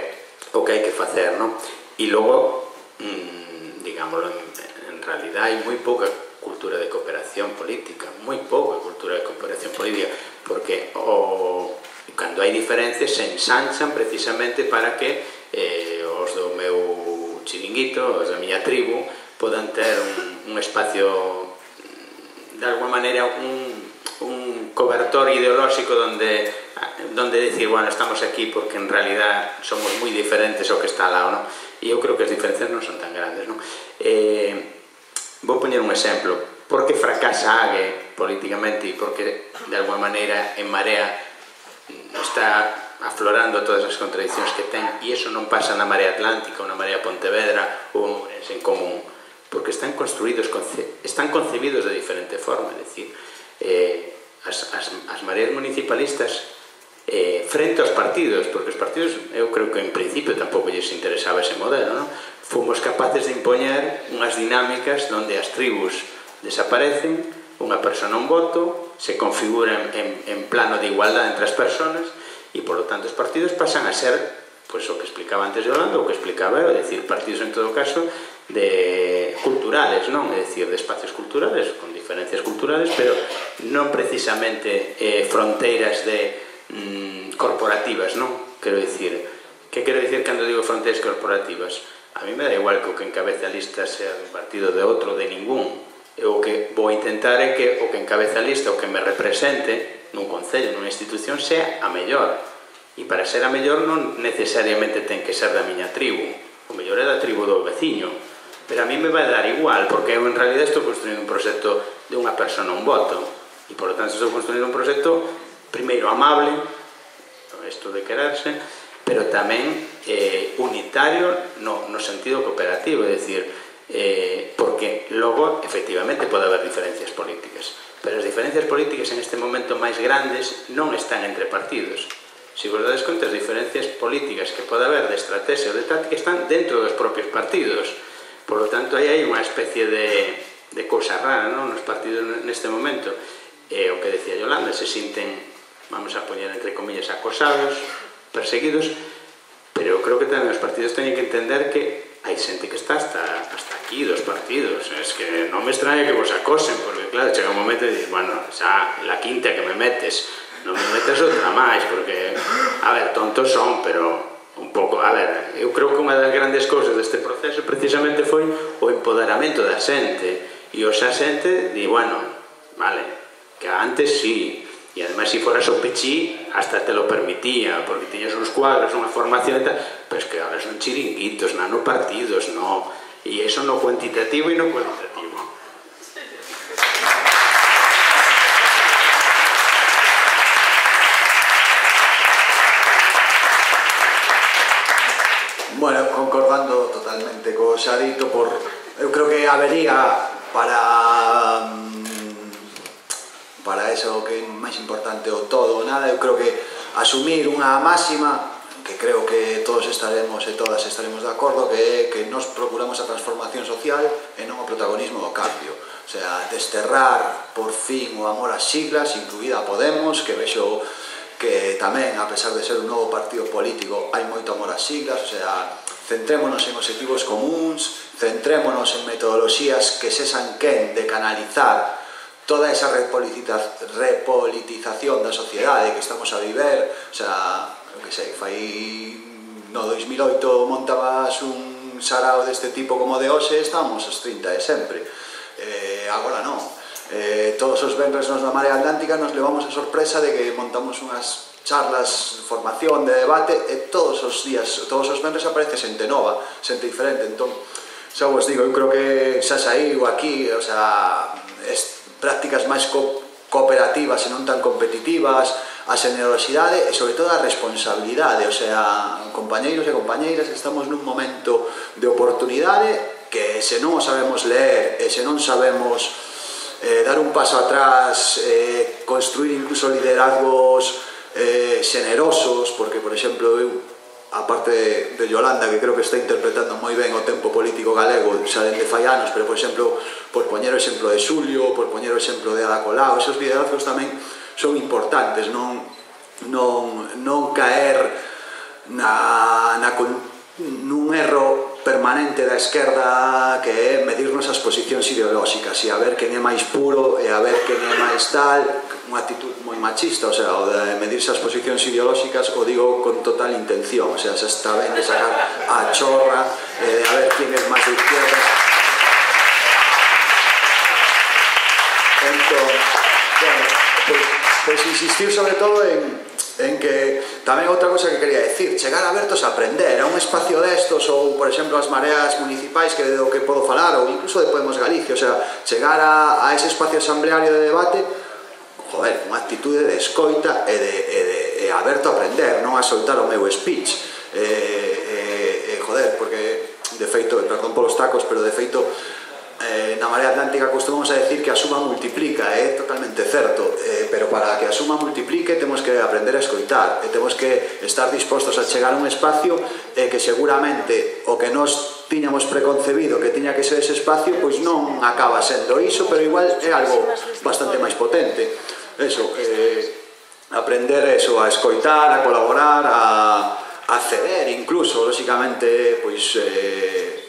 o que hai que facer, non? E logo, mmm, digámoslo, en, en realidad hai moi pouca cultura de cooperación política, moi pouca cultura de cooperación política, porque o, cando hai diferencias se ensanchan precisamente para que eh, os do meu chiringuito, os da miña tribu, podan ter un, un espacio, de alguma maneira, un, un cobertor ideolóxico donde, donde decir, bueno, estamos aquí porque en realidad somos moi diferentes ao que está ao lado, non? E eu creo que as diferencias non son tan grandes, non? Eh, vou poñer un exemplo. Por que fracasa Ague políticamente e porque, de alguma maneira, en Marea está aflorando todas as contradicións que ten, e iso non pasa na Marea Atlántica ou na Marea Pontevedra ou en común, porque están construídos, están concebidos de diferente forma, é dicir, eh, as, as, as mareas municipalistas eh, frente aos partidos, porque os partidos, eu creo que en principio tampouco lles interesaba ese modelo, non? Fomos capaces de impoñer unhas dinámicas onde as tribus desaparecen, unha persona un voto, se configura en, en plano de igualdade entre as persoas e, por lo tanto, os partidos pasan a ser, pois, o que explicaba antes Yolanda, o que explicaba eu, é dicir, partidos en todo caso de culturales, non? É dicir, de espacios culturales, con diferencias culturales, pero non precisamente eh, fronteiras de mm, corporativas, non? Quero dicir, que quero dicir cando digo fronteiras corporativas? A mí me da igual que o que encabeza a lista sea de un partido de outro, de ningún. O que vou intentar é que o que encabeza a lista, o que me represente nun concello, nunha institución, sea a mellor. E para ser a mellor non necesariamente ten que ser da miña tribu. O mellor é da tribu do veciño. Pero a mí me vai dar igual, porque eu en realidad estou construindo un proxecto de unha persona un voto. E, por lo tanto, estou construindo un proxecto, primeiro, amable, isto de quererse, pero tamén eh, unitario no, no sentido cooperativo, é dicir, eh, porque logo, efectivamente, pode haber diferencias políticas, pero as diferencias políticas en este momento máis grandes non están entre partidos. Se vos dades conta, as diferencias políticas que pode haber de estrategia ou de táctica están dentro dos propios partidos. Por lo tanto, aí hai unha especie de, de cousa rara, non? Nos partidos neste momento. E o que decía Yolanda, se sinten, vamos a poñer entre comillas, acosados, perseguidos, pero eu creo que tamén os partidos teñen que entender que hai xente que está hasta, hasta aquí dos partidos. Es que non me extraña que vos acosen, porque claro, chega un momento e dices, bueno, xa la quinta que me metes, non me metes outra máis, porque, a ver, tontos son, pero un pouco, a ver, eu creo que unha das grandes cousas deste proceso precisamente foi o empoderamento da xente, e o xa xente di, bueno, vale, que antes sí, e ademais se foras o pechí hasta te lo permitía, porque tiñas uns cuadros, unha formación e tal, pero es que ahora son chiringuitos, nano partidos, no, e eso no cuantitativo e no cualitativo. Bueno, concordando totalmente co xa dito, por, eu creo que habería para para eso que é máis importante o todo ou nada, eu creo que asumir unha máxima que creo que todos estaremos e todas estaremos de acordo, que é que nos procuramos a transformación social e non o protagonismo do cambio. O sea, desterrar por fin o amor ás siglas, incluída a Podemos, que vexo que tamén, a pesar de ser un novo partido político, hai moito amor ás siglas. O sea, centrémonos en objetivos comuns, centrémonos en metodoloxías que sexan quen de canalizar toda esa repolitización da sociedade que estamos a viver. O sea, eu que sei, fai no dos mil oito montabas un sarao deste tipo como de hoxe, estamos os trinta de sempre. Eh, agora non. Eh, todos os venres nos na Marea Atlántica nos levamos a sorpresa de que montamos unhas charlas, formación, de debate, e todos os días, todos os venres aparece xente nova, xente diferente. Entón, xa vos digo, eu creo que xa saiu aquí, o sea, es, prácticas máis co cooperativas e non tan competitivas, a xenerosidade e, sobre todo, a responsabilidade. O sea, compañeiros e compañeiras, estamos nun momento de oportunidade que, se non o sabemos ler e se non sabemos eh, dar un paso atrás, eh, construir incluso liderazgos eh, xenerosos, porque, por exemplo, eu a parte de, de Yolanda, que creo que está interpretando moi ben o tempo político galego, xa dende fai anos, pero, por exemplo, por poñer o exemplo de Xulio, por poñer o exemplo de Ada Colau, esos liderazgos tamén son importantes, non, non, non caer na, na, nun erro permanente da esquerda que é medirnos as posicións ideolóxicas e a ver quen é máis puro e a ver quen é máis tal, unha actitud moi machista, o sea, o de medirse as posicións ideolóxicas o digo con total intención, o sea, se está ben de sacar a chorra e de a ver quen é máis de izquierdas. Entón, bueno, pues, pues insistir sobre todo en en que tamén outra cosa que quería decir, chegar abertos a aprender a un espacio destos ou, por exemplo, as mareas municipais que do que podo falar ou incluso de Podemos Galicia, o sea, chegar a, a ese espacio asambleario de debate, joder, unha actitude de escoita e de, e de e aberto a aprender, non a soltar o meu speech e, e, e joder, porque de feito, perdón polos tacos, pero de feito Eh, na Marea Atlántica costumamos a decir que a suma multiplica, é eh, totalmente certo, eh, pero para que a suma multiplique temos que aprender a escoitar e temos que estar dispostos a chegar a un espacio eh, que seguramente o que nos tiñamos preconcebido que tiña que ser ese espacio, pois non acaba sendo iso, pero igual é algo bastante máis potente. Eso, eh, aprender eso, a escoitar, a colaborar, a, a ceder incluso, lóxicamente, pois eh,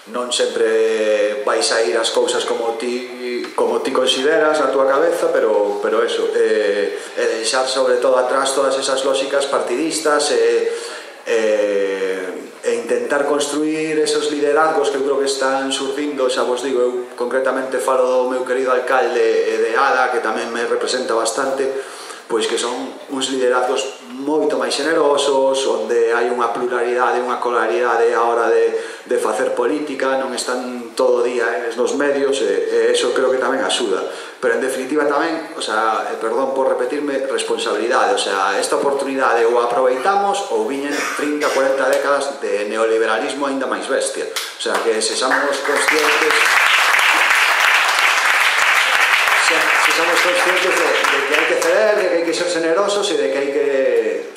non sempre vais a ir as cousas como ti como ti consideras na túa cabeza, pero, pero eso, eh, e deixar sobre todo atrás todas esas lógicas partidistas e, e, e intentar construir esos liderazgos que eu creo que están surgindo, xa vos digo, eu concretamente falo do meu querido alcalde e de Ada, que tamén me representa bastante, pois que son uns liderazgos moito máis generosos, onde hai unha pluralidade, unha colaridade a hora de, de facer política, non están todo o día eles nos medios, e, e eso creo que tamén axuda. Pero en definitiva tamén, o sea, perdón por repetirme, responsabilidade, o sea, esta oportunidade ou aproveitamos ou viñen trinta, cuarenta décadas de neoliberalismo aínda máis bestia. O sea, que sexamos conscientes somos conscientes de, de que hai que ceder, de que hai que ser generosos e de que hai que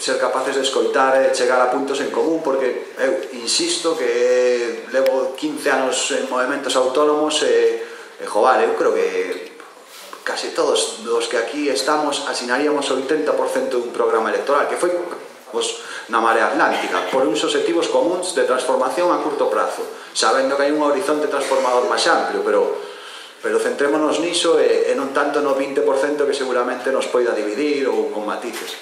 ser capaces de escoitar e chegar a puntos en común, porque eu insisto que levo quince anos en movimentos autónomos e, e joder, eu creo que casi todos os que aquí estamos asinaríamos o oitenta por cento dun programa electoral que foi os, na Marea Atlántica por uns obxectivos comuns de transformación a curto prazo, sabendo que hai un horizonte transformador máis amplio, pero pero centrémonos niso e, e non tanto no vinte por cento que seguramente nos poida dividir ou con matices.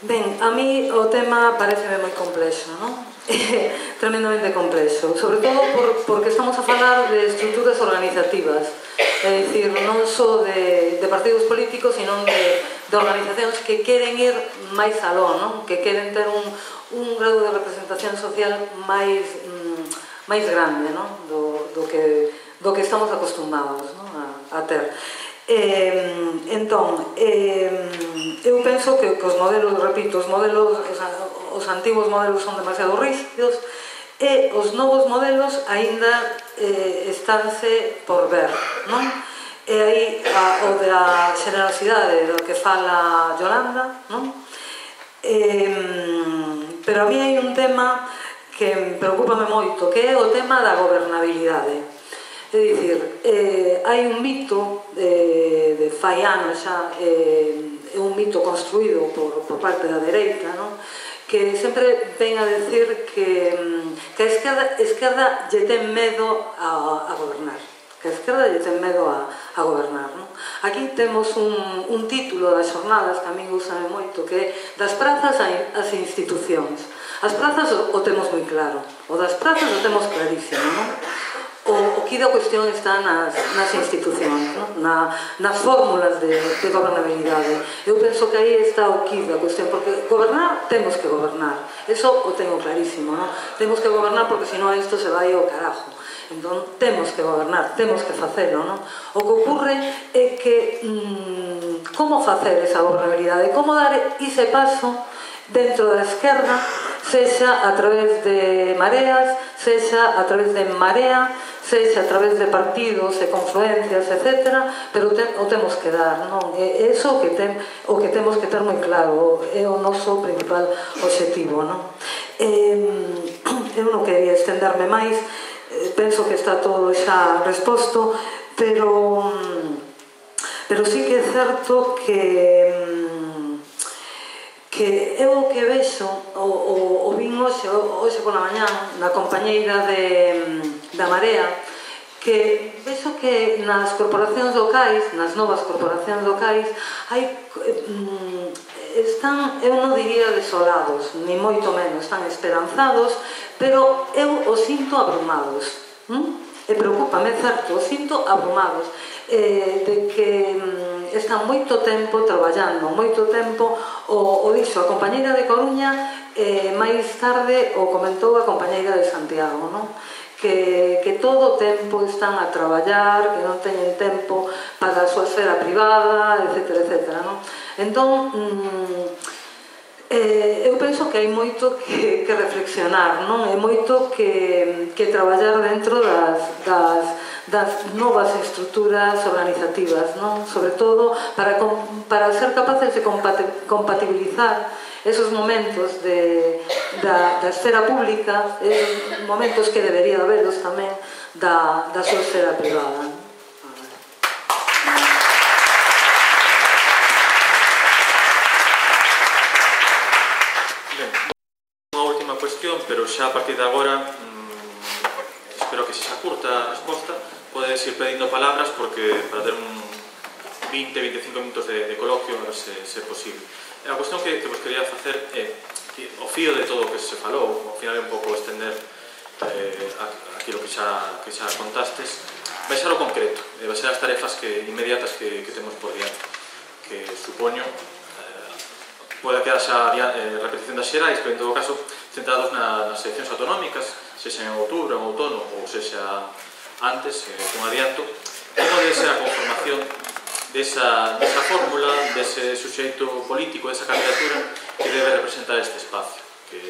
Ben, a mí o tema pareceme moi complexo, non? Tremendamente complexo, sobre todo por, porque estamos a falar de estruturas organizativas, é dicir, non só de, de partidos políticos, sino de de organizacións que queren ir máis aló, non? Que queren ter un, un grado de representación social máis, mm, máis grande, non? Do, do, que, do que estamos acostumados, non? A, a ter. Eh, entón, eh, eu penso que, que os modelos, repito, os modelos, os, os antigos modelos son demasiado rígidos e os novos modelos aínda eh, estánse por ver, non? E aí a, o da generosidade do que fala Yolanda, non? Eh, pero a mí hai un tema que me preocupame moito, que é o tema da gobernabilidade. É dicir, eh, hai un mito de, de fai anos xa, eh, é un mito construído por, por parte da dereita, non? Que sempre ven a decir que, que a esquerda, esquerda lle ten medo a, a gobernar. Que a esquerda lle ten medo a, a gobernar, non? Aquí temos un, un título das xornadas que a mí gustame moito, que é das prazas ás institucións. As prazas o, o temos moi claro, o das prazas o temos clarísimo, non? O, o que da cuestión está nas, nas institucións, non? Na, nas fórmulas de, de gobernabilidade. Eu penso que aí está o que da cuestión, porque gobernar, temos que gobernar, eso o tengo clarísimo, non? Temos que gobernar porque senón isto se vai ao carajo. Entón, temos que gobernar, temos que facelo, non? O que ocurre é que mmm, como facer esa gobernabilidade, como dar ese paso dentro da esquerda, sexa a través de mareas, sexa a través de Marea, sexa a través de partidos e confluencias, etcétera, pero te, o temos que dar, non? E iso que tem, o que temos que ter moi claro, é o noso principal obxectivo, non? Eh, eu non quería estenderme máis, eh, penso que está todo xa resposto, pero pero sí que é certo que que eu o que vexo, o, o, o vin hoxe, hoxe pola mañá, na compañeira de, da Marea, que vexo que nas corporacións locais, nas novas corporacións locais, hai, están, eu non diría desolados, ni moito menos, están esperanzados, pero eu os sinto abrumados. ¿Mm? E preocúpame, certo, os sinto abrumados, eh, de que mm, están moito tempo traballando, moito tempo, o, o dixo a compañeira de Coruña, eh, máis tarde o comentou a compañeira de Santiago, non? Que, que todo o tempo están a traballar, que non teñen tempo para a súa esfera privada, etcétera, etcétera, non? Entón, mm, Eh, eu penso que hai moito que, que reflexionar, non? É moito que, que traballar dentro das, das, das novas estruturas organizativas, non? Sobre todo para, para ser capaces de compatibilizar esos momentos de, da, da esfera pública, esos momentos que debería haberos tamén da, da súa esfera privada. Pero xa a partir de agora mmm, espero que se xa curta a resposta, podedes ir pedindo palabras porque para ter un vinte a veinticinco minutos de, de coloquio a ver se, se é posible. E a cuestión que, que vos quería facer é que o fío de todo o que se falou, ao final é un pouco estender eh, aquilo que xa, que xa contastes, vai ser o concreto, e vai ser as tarefas que, inmediatas que, que temos por diante, que supoño pode que haxa eh, repetición das xerais, pero en todo caso centrados na, nas eleccións autonómicas, sexa en outubro, en outono ou sexa antes, eh, con adianto, como debe ser a conformación desa, desa fórmula, dese suxeito político, desa candidatura que debe representar este espacio, que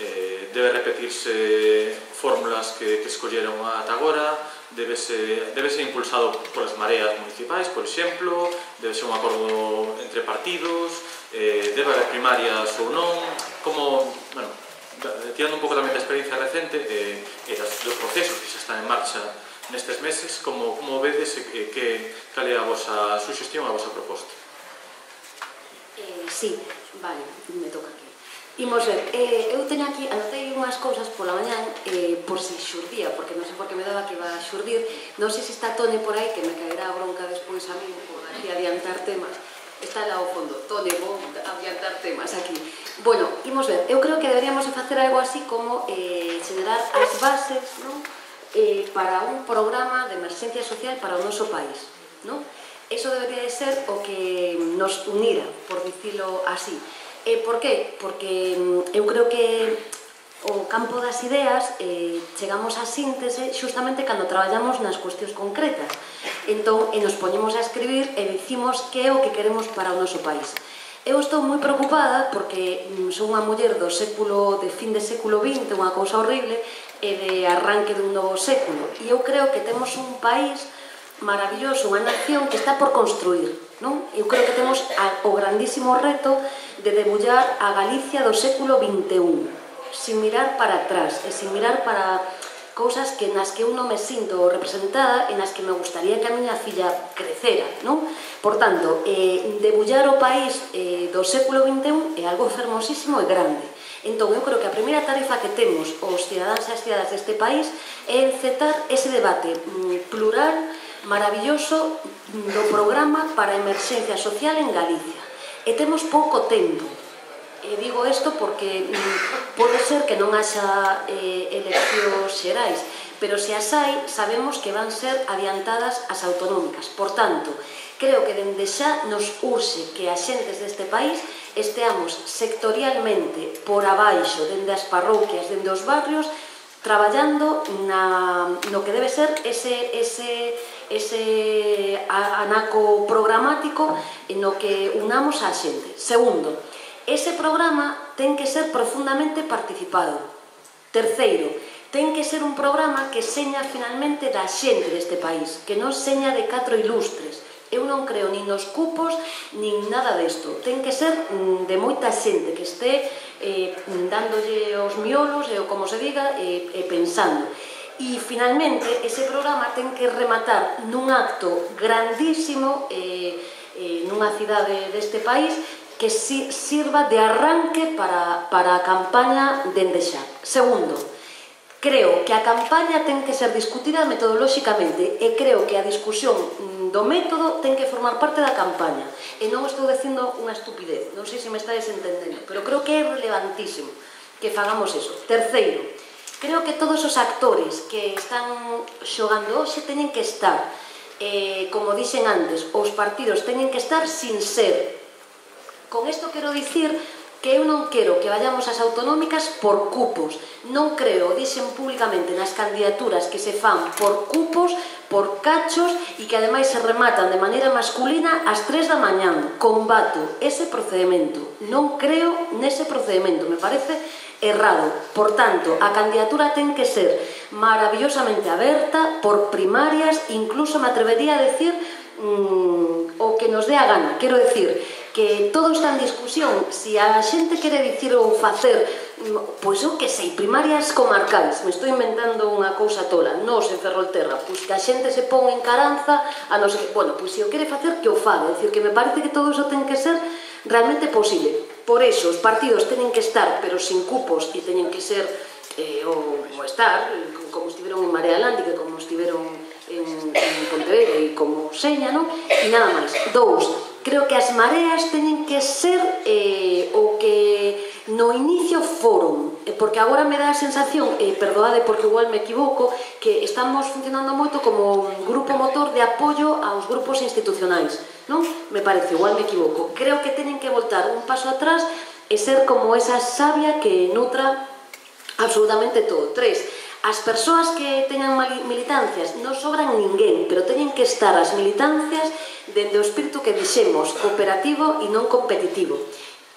eh, debe repetirse fórmulas que, que escolleron ata agora, debe ser, debe ser impulsado polas mareas municipais, por exemplo, debe ser un acordo entre partidos, eh, debe haber primarias ou non, como, bueno, tirando un pouco tamén da experiencia recente eh, e das, dos procesos que xa están en marcha nestes meses, como, como vedes eh, que, cal é a vosa suxestión, a vosa proposta? Eh, sí, vale, me toca aquí. Imos ver, eh, eu teño aquí, anotei unhas cousas pola mañán eh, por si xurdía, porque non sei por que me daba que iba a xurdir, non sei se está Tone por aí, que me caerá a bronca despois a mí por aquí adiantar temas. Está lá ao fondo, Tone, vou adiantar temas aquí. Bueno, imos ver, eu creo que deberíamos facer algo así como eh, generar as bases, non? Eh, para un programa de emerxencia social para o noso país, non? Eso debería de ser o que nos unira, por dicilo así. E por qué? Porque eu creo que o campo das ideas eh, chegamos á síntese xustamente cando traballamos nas cuestións concretas. Entón, e nos poñemos a escribir e dicimos que é o que queremos para o noso país. Eu estou moi preocupada porque son unha muller do século, de fin de século vinte, unha cousa horrible, e de arranque dun novo século. E eu creo que temos un país maravilloso, unha nación que está por construir, non? Eu creo que temos a, o grandísimo reto de debullar a Galicia do século vinte e un, sin mirar para atrás e sin mirar para cousas que nas que eu non me sinto representada e nas que me gustaría que a miña filla crecera, non? Por tanto, eh, debullar o país eh, do século vinte e un é algo fermosísimo e grande. Entón, eu creo que a primeira tarefa que temos os cidadáns e as cidadas deste país é encetar ese debate mm, plural, maravilloso do programa para a emerxencia social en Galicia. E temos pouco tempo. E digo isto porque mm, pode ser que non haxa eh, eleccións xerais, pero se as hai, sabemos que van ser adiantadas as autonómicas. Por tanto, creo que dende xa nos urxe que as xentes deste país esteamos sectorialmente por abaixo, dende as parroquias, dende os barrios, traballando na, no que debe ser ese, ese, ese anaco programático no que unamos a xente. Segundo, ese programa ten que ser profundamente participado. Terceiro, ten que ser un programa que seña finalmente da xente deste país, que non seña de catro ilustres. Eu non creo nin nos cupos, nin nada desto. Ten que ser de moita xente que este eh, dándolle os miolos, e o como se diga, e eh, eh, pensando. E finalmente ese programa ten que rematar nun acto grandísimo eh, eh, nunha cidade deste país que si, sirva de arranque para, para a campaña dende xa. Segundo, creo que a campaña ten que ser discutida metodolóxicamente e creo que a discusión do método ten que formar parte da campaña. E non estou dicindo unha estupidez, non sei se me estáis entendendo, pero creo que é relevantísimo que fagamos eso. Terceiro, creo que todos os actores que están xogando hoxe teñen que estar, eh, como dixen antes, os partidos teñen que estar sin ser. Con isto quero dicir que eu non quero que vayamos ás autonómicas por cupos. Non creo, dixen públicamente nas candidaturas que se fan por cupos, por cachos e que ademais se rematan de maneira masculina ás tres da mañán. Combato ese procedimento. Non creo nese procedimento. Me parece errado. Por tanto, a candidatura ten que ser maravillosamente aberta por primarias, incluso me atrevería a decir mmm, o que nos dé a gana. Quero decir que todo está en discusión. Si a xente quere dicir ou facer, pois eu que sei, primarias comarcais, me estou inventando unha cousa tola, nos en Ferrolterra, pois que a xente se pon en Caranza, a non sei, bueno, pois se o quere facer, que o faga. É dicir, que me parece que todo iso ten que ser realmente posible. Por eso, os partidos teñen que estar, pero sin cupos, e teñen que ser, eh, o, o estar, como estiveron en Marea Atlántica, como estiveron en, en Pontevedra, e como seña, non? E nada máis. Dous, creo que as mareas teñen que ser eh, o que no inicio foron, porque agora me dá a sensación, eh, perdoade porque igual me equivoco, que estamos funcionando moito como un grupo motor de apoio aos grupos institucionais, non? Me parece, igual me equivoco. Creo que teñen que voltar un paso atrás e ser como esa savia que nutra absolutamente todo. Tres, as persoas que teñan militancias non sobran ninguén, pero teñen que estar as militancias dende o espírito que dixemos, cooperativo e non competitivo.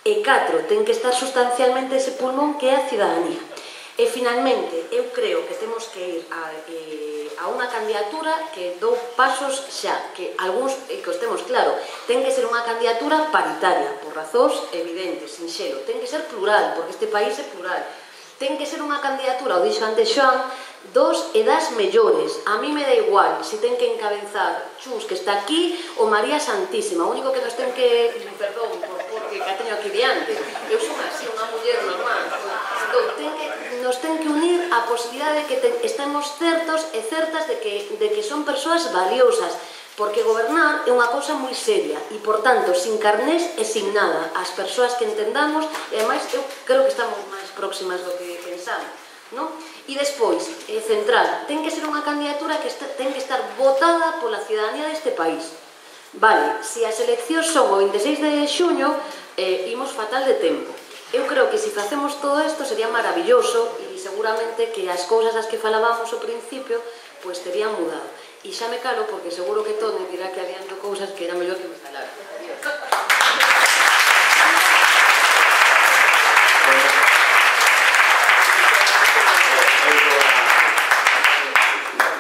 E catro, ten que estar sustancialmente ese pulmón que é a cidadanía. E finalmente, eu creo que temos que ir a, eh, a unha candidatura que dou pasos xa, que algúns, e que os temos claro, ten que ser unha candidatura paritaria, por razóns evidentes, sinxelo, ten que ser plural, porque este país é plural. Ten que ser unha candidatura, o dixo antes Xoan, dos e das mellores. A mí me dá igual se ten que encabezar Chus, que está aquí, ou María Santísima. O único que nos ten que... Perdón, porque que a teño aquí diante. Eu son así, unha muller normal. Entón, ten que, nos ten que unir a posibilidade de que te, estemos certos e certas de que, de que son persoas valiosas. Porque gobernar é unha cousa moi seria e, por tanto, sin carnés e sin nada. As persoas que entendamos, e ademais eu creo que estamos máis próximas do que pensamos, non? E despois, eh, central, ten que ser unha candidatura que está, ten que estar votada pola cidadanía deste país. Vale, se as eleccións son o veintiséis de xuño, eh, imos fatal de tempo. Eu creo que se facemos todo isto sería maravilloso e seguramente que as cousas das que falábamos ao principio pois terían mudado. E xa me calo porque seguro que Toni dirá que adianto cousas que era mellor que me calara.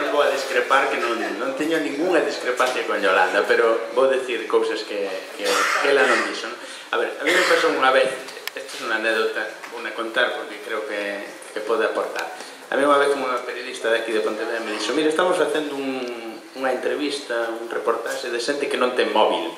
Non vou a discrepar, que non, non teño ninguna discrepancia con Yolanda, pero vou decir cousas que, que, que ela non dixo. A ver, a mí me pasou unha vez, esta é unha anécdota, vou a contar porque creo que, que pode aportar. A mí unha vez unha periodista de aquí de Pontevedra me dixo: mira, estamos facendo un, unha entrevista, un reportaxe de xente que non ten móvil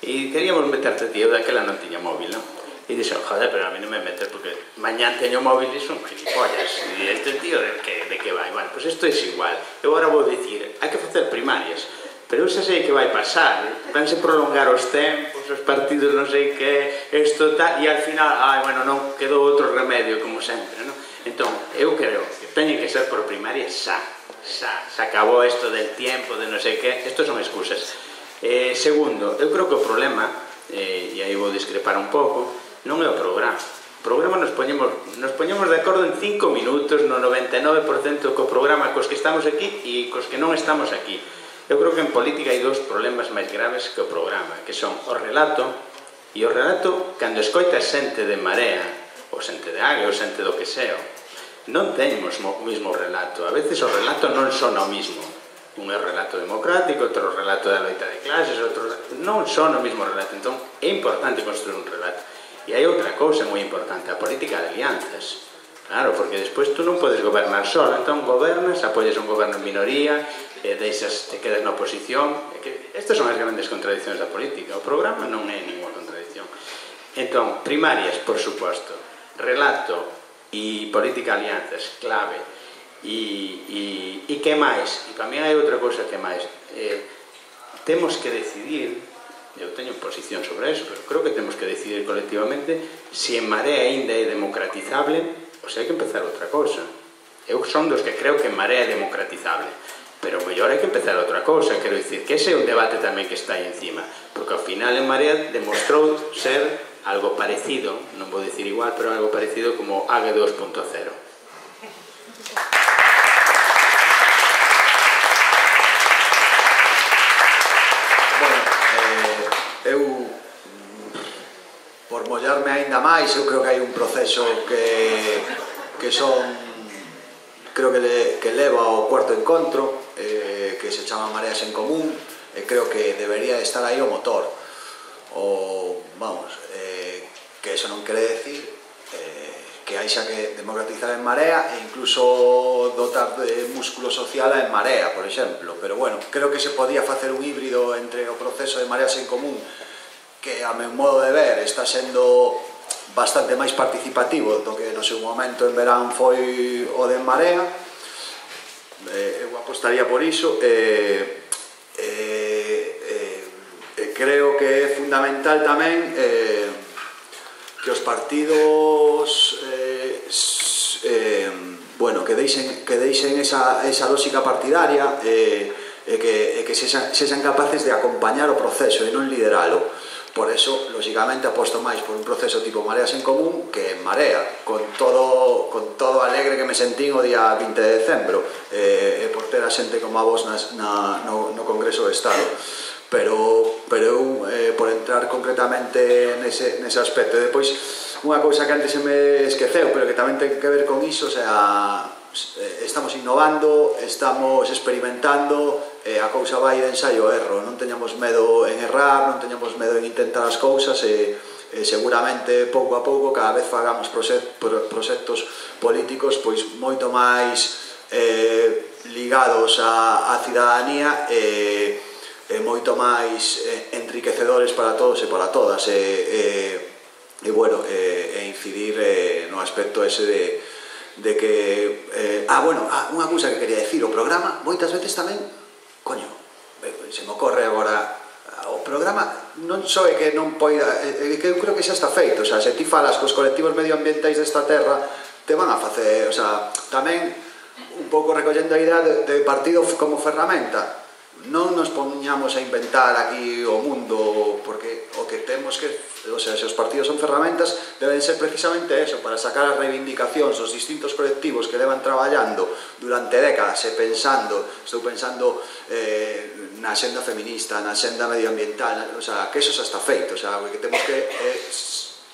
e queríamos meterte ti, eu daquela non tiña móvil, non? E dixo, joder, pero a mí non me metes porque mañán teño móvil e son gilipollas e este tío de que, de que vai? Bueno, pois pues isto é igual. Eu agora vou dicir, hai que facer primarias, pero eu xa sei que vai pasar, vanse prolongar os tempos, os partidos non sei que, isto tal, e al final, ai, bueno, non quedou outro remedio como sempre, non? Entón, eu creo que teñen que ser por primaria xa, xa, se acabou isto del tiempo, de non sei que, isto son excusas. Eh, segundo, eu creo que o problema, eh, e aí vou discrepar un pouco, non é o programa. O programa nos poñemos, nos poñemos de acordo en cinco minutos, no noventa e nove por cento co programa cos que estamos aquí e cos que non estamos aquí. Eu creo que en política hai dous problemas máis graves que o programa, que son o relato, e o relato, cando escoita xente de Marea, ou xente de Agre, ou xente do que seo, non temos o mesmo relato. A veces o relato non son o mismo. Un é o relato democrático, outro o relato da loita de clases, outro non son o mesmo relato. Entón, é importante construir un relato. E hai outra cousa moi importante, a política de alianzas. Claro, porque despois tú non podes gobernar só, entón gobernas, apoias un goberno en minoría, e deixas, te quedas na oposición. Estas son as grandes contradicións da política. O programa non é ninguna contradición. Entón, primarias, por suposto, relato e política de alianzas, clave. E, e, e que máis? E para mí hai outra cousa que máis. Eh, temos que decidir, eu teño posición sobre eso, pero creo que temos que decidir colectivamente se en Marea ainda é democratizable ou se hai que empezar outra cousa. Eu son dos que creo que en Marea é democratizable, pero mellor hai que empezar outra cousa. Quero dicir que ese é un debate tamén que está aí encima, porque ao final en Marea demostrou ser algo parecido, non vou dicir igual, pero algo parecido como A G dos punto cero. Bueno, eh, eu por mollarme aínda máis, eu creo que hai un proceso que, que son, creo que, le, que leva ao cuarto encontro, eh, que se chama Mareas en Común, e creo que debería estar aí o motor. O, vamos, eh, que eso non quere decir eh, que hai xa que democratizar en Marea e incluso dotar de músculo social en Marea, por exemplo. Pero bueno, creo que se podía facer un híbrido entre o proceso de Mareas en Común, que a meu modo de ver está sendo bastante máis participativo do que no seu momento en verán foi o de Marea. Eh, eu apostaría por iso. Eh, eh, eh, creo que é fundamental tamén eh, que os partidos eh, eh, bueno, que deixen, que deixen esa, esa lógica partidaria e eh, que, eh, que sexan, sexan capaces de acompañar o proceso e non lideralo. Por eso, lógicamente, aposto máis por un proceso tipo Mareas en Común que en Marea, con todo, con todo alegre que me sentín o día vinte de decembro, e eh, por ter a xente como a vos nas, na, no, no Congreso do Estado. Pero, pero eu, eh, por entrar concretamente nese, nese aspecto. E depois, unha cousa que antes se me esqueceu, pero que tamén ten que ver con iso, o sea, estamos innovando, estamos experimentando, eh, a cousa vai de ensaio e erro, non teñamos medo en errar, non teñamos medo en intentar as cousas e, e seguramente pouco a pouco cada vez fagamos proxectos políticos pois moito máis eh, ligados á, á cidadanía e, e moito máis eh, enriquecedores para todos e para todas e, e, e bueno, e, e incidir eh, no aspecto ese de de que, eh, ah, bueno, ah, unha cousa que quería decir, o programa moitas veces tamén, coño, se me ocorre agora, o programa non só é que non poida, é que eu creo que xa está feito, o sea, se ti falas cos colectivos medioambientais desta terra, te van a facer, o sea, tamén un pouco recollendo a idea de, de partido como ferramenta. Non nos poñamos a inventar aquí o mundo, porque o que temos que, o sea, se os partidos son ferramentas, deben ser precisamente eso, para sacar as reivindicacións dos distintos colectivos que levan traballando durante décadas e pensando, estou pensando eh, na xenda feminista, na xenda medioambiental, o sea, que eso xa está feito, o sea, que temos que eh,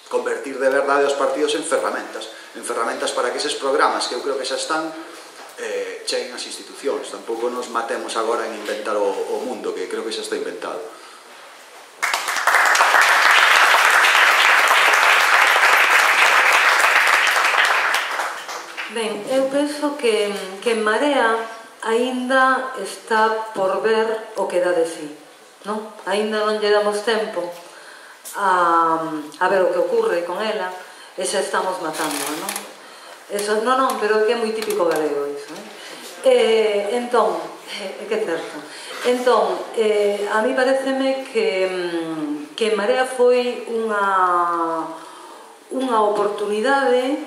convertir de verdade os partidos en ferramentas, en ferramentas para que eses programas, que eu creo que xa están, Eh, cheguen as institucións. Tampouco nos matemos agora en inventar o, o mundo, que creo que xa está inventado. Ben, eu penso que, que en Marea aínda está por ver o que dá de sí, non? Aínda non lle damos tempo a, a ver o que ocurre con ela e xa estamos matando, non? Eso, non, non, pero que é moi típico galego iso, eh? Eh, entón, é eh, que é certo. Entón, eh, a mí pareceme que, que Marea foi unha, unha oportunidade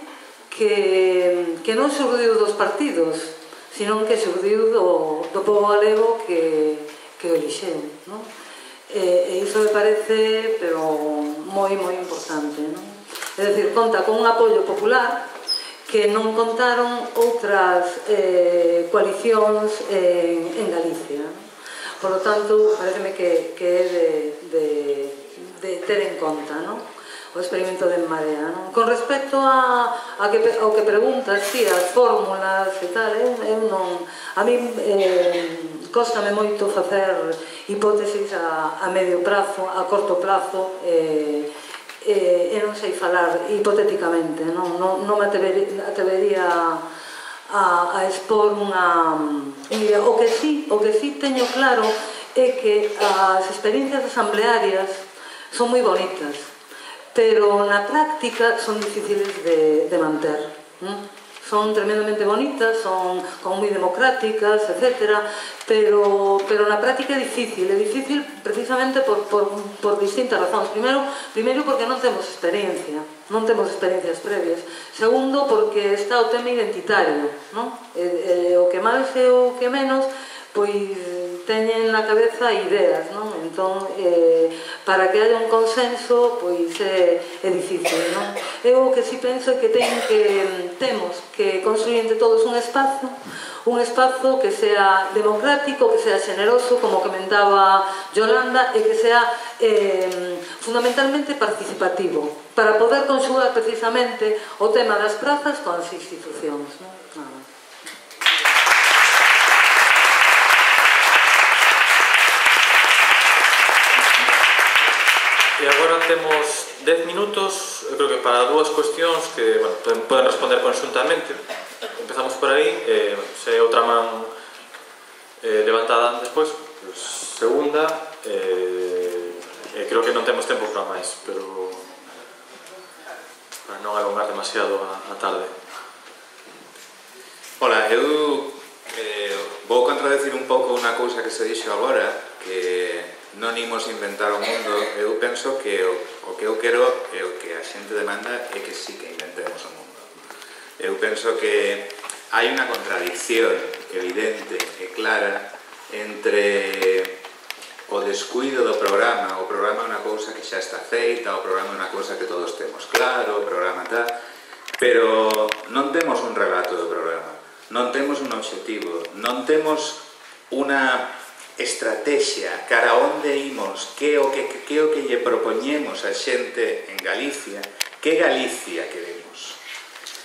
que, que non surdiu dos partidos, senón que surdiu do, do povo galego que, que o elixeu, non? E, e iso me parece, pero moi, moi importante, non? É dicir, conta con un apoio popular que non contaron outras eh, coalicións en, en Galicia. Por lo tanto, pareceme que, que é de, de, de ter en conta, non? o experimento de En Marea, non? Con respecto a, a que, ao que preguntas, si, as fórmulas e tal, eu, eu non... A mí eh, cóstame moito facer hipótesis a, a medio prazo, a corto plazo, eh, eh, e non sei falar hipotéticamente, non, non, non me atrevería a, a expor unha... Mira, o que sí, o que sí teño claro é que as experiencias asamblearias son moi bonitas, pero na práctica son difíciles de, de manter. ¿Mm? Son tremendamente bonitas, son como moi democráticas, etcétera, pero, pero na práctica é difícil, é difícil precisamente por, por, por distintas razóns. Primeiro, primeiro porque non temos experiencia, non temos experiencias previas. Segundo, porque está o tema identitario, non? E, e, o que máis e o que menos, pois teñen na cabeza ideas, non? Entón, eh, para que haya un consenso, pois é, é difícil, non? Eu o que si penso é que, ten que temos que construir entre todos un espazo, un espazo que sea democrático, que sea generoso, como comentaba Yolanda, e que sea eh, fundamentalmente participativo, para poder conxugar precisamente o tema das prazas con as institucións, non? Nada. E agora temos dez minutos, eu creo que para dúas cuestións que, bueno, poden responder conxuntamente. Empezamos por aí, eh, se outra man eh, levantada despois, pues, segunda, eh, eh, creo que non temos tempo para máis, pero para non alongar demasiado a, a tarde. Ola, eu eh, vou contradecir un pouco unha cousa que se dixo agora, que non imos inventar o mundo. Eu penso que o, o que eu quero e o que a xente demanda é que sí que inventemos o mundo. Eu penso que hai unha contradicción evidente e clara entre o descuido do programa. O programa é unha cousa que xa está feita, o programa é unha cousa que todos temos claro, o programa tal, pero non temos un relato do programa, non temos un obxectivo, non temos unha estrategia cara a onde imos, que o que, que o que lle propoñemos a xente en Galicia, que Galicia queremos.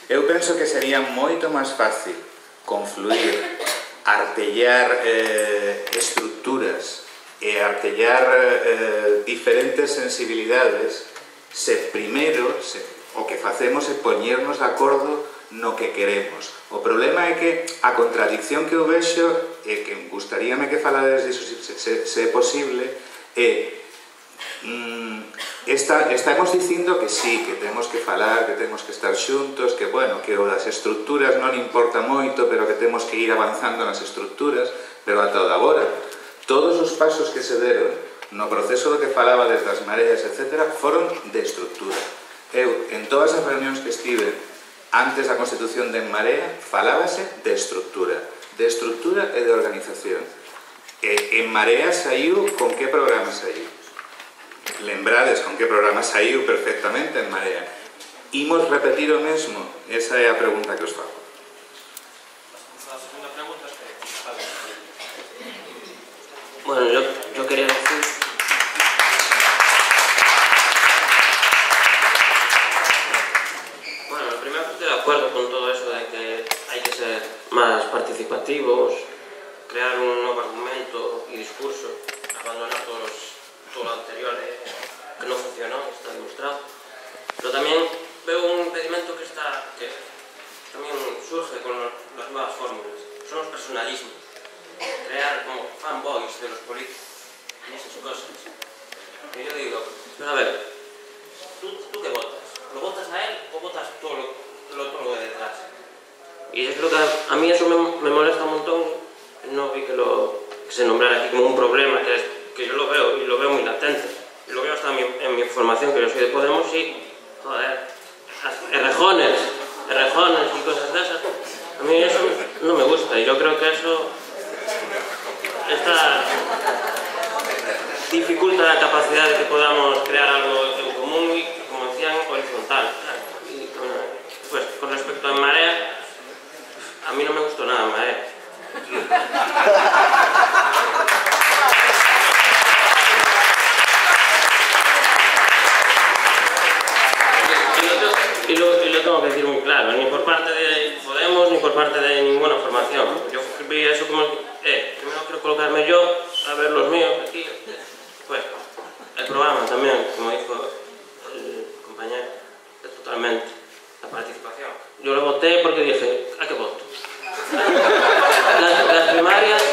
Eu penso que sería moito máis fácil confluir, artellar eh, estructuras e artellar eh, diferentes sensibilidades se primeiro se, o que facemos é poñernos de acordo no que queremos. O problema é que a contradicción que eu vexo, e que gustaríame que falades disso se, se, se é posible, é mm, esta, estamos dicindo que sí, que temos que falar, que temos que estar xuntos, que bueno, que o das estructuras non importa moito, pero que temos que ir avanzando nas estructuras, pero ata o de agora todos os pasos que se deron no proceso do que falaba desde as mareas, etcétera, foron de estructura. Eu, en todas as reunións que estive antes da constitución de En Marea, falábase de estructura, de estructura e de organización. E En Marea saiu con que programa saiu? Lembrades con que programa saiu perfectamente En Marea. Imos repetir o mesmo? Esa é a pregunta que os fago. A segunda pregunta é... Bueno, yo, yo quería decir... De acuerdo con todo eso de que hay que ser más participativos, crear un nuevo argumento y discurso, abandonar todos los, todo lo anterior eh, que no funcionó, está demostrado. Pero también veo un impedimento que está que también surge con los, las nuevas fórmulas, son los personalismos, crear como fanboys de los políticos y esas cosas. Y yo digo, pero a ver, ¿tú, tú qué votas? ¿Lo votas a él o votas todo lo lo todo de detrás? Y es lo que a, a mí eso me, me molesta un montón. No vi que lo que se nombrara aquí como un problema, que, es, que yo lo veo y lo veo muy latente, y lo veo hasta en mi, en mi formación, que yo soy de Podemos, y joder, errejones errejones y cosas de esas, a mí eso no me gusta, y yo creo que eso está, dificulta la capacidad de que podamos crear algo en común y, como decían, horizontal. Y, pues con respecto a En Marea, a mí no me gustó nada En Marea. claro, ni por parte de Podemos ni por parte de ninguna formación. Yo vi eso como, eh, primero quiero colocarme yo, a ver los míos aquí. Pues, el programa también, como dijo el compañero, es totalmente la participación. Yo lo voté porque dije, ¿a qué voto? Las, las primarias,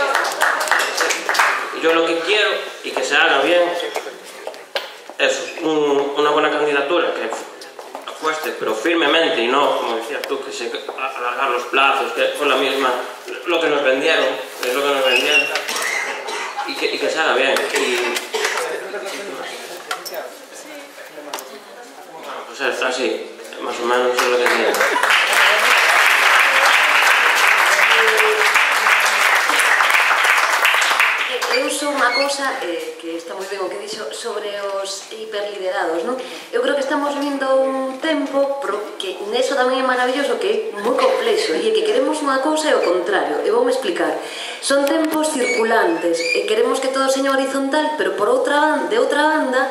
yo lo que quiero, y que se haga bien, es un, una buena candidatura que apueste, pero firmemente, y no, como decías tú, que se alargar los plazos, que fue la misma, lo que nos vendieron, es lo que nos vendieron, y que, y que se haga bien. Y, bueno, pues es así, más o menos es lo que tiene. Eu sou unha cousa eh, que está moi ben o que dixo sobre os hiperliderados, non? Eu creo que estamos vindo un tempo pro que neso tamén é maravilloso, que é moi complexo, e que queremos unha cousa e o contrario, e voume explicar. Son tempos circulantes e queremos que todo seña horizontal, pero por outra, de outra banda,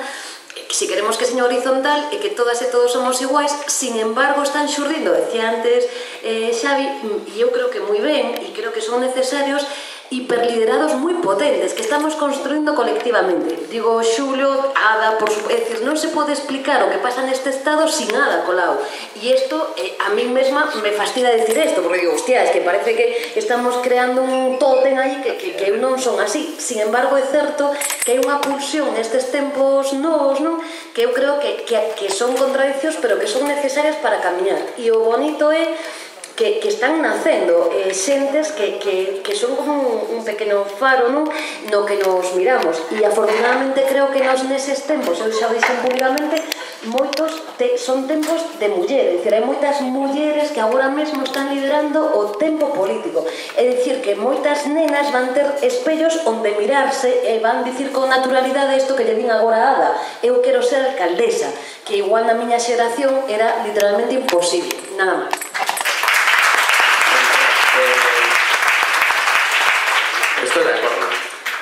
si queremos que seña horizontal e que todas e todos somos iguais, sin embargo están xurdindo, decía antes eh, Xavi, e eu creo que moi ben, e creo que son necesarios hiperliderados moi potentes que estamos construindo colectivamente. Digo, Xulio, Ada, por suposto, é dicir, non se pode explicar o que pasa neste estado sin Ada colao. E isto, eh, a mí mesma me fastidia decir isto, porque digo, hostia, es que parece que estamos creando un tótem aí que, que, que non son así. Sin embargo, é certo que hai unha pulsión nestes tempos novos, non? Que eu creo que, que, que son contradiccións, pero que son necesarias para camiñar. E o bonito é que, que están nacendo eh, xentes que, que, que son como un, un pequeno faro, non? No que nos miramos, e afortunadamente creo que nos neses tempos, eu xa dixen públicamente, moitos te, son tempos de mulleres, é dicir, hai moitas mulleres que agora mesmo están liderando o tempo político, é dicir, que moitas nenas van ter espellos onde mirarse e van dicir con naturalidade isto que lle din agora a Ada, eu quero ser alcaldesa, que igual na miña xeración era literalmente imposible, nada máis. Estou de acordo.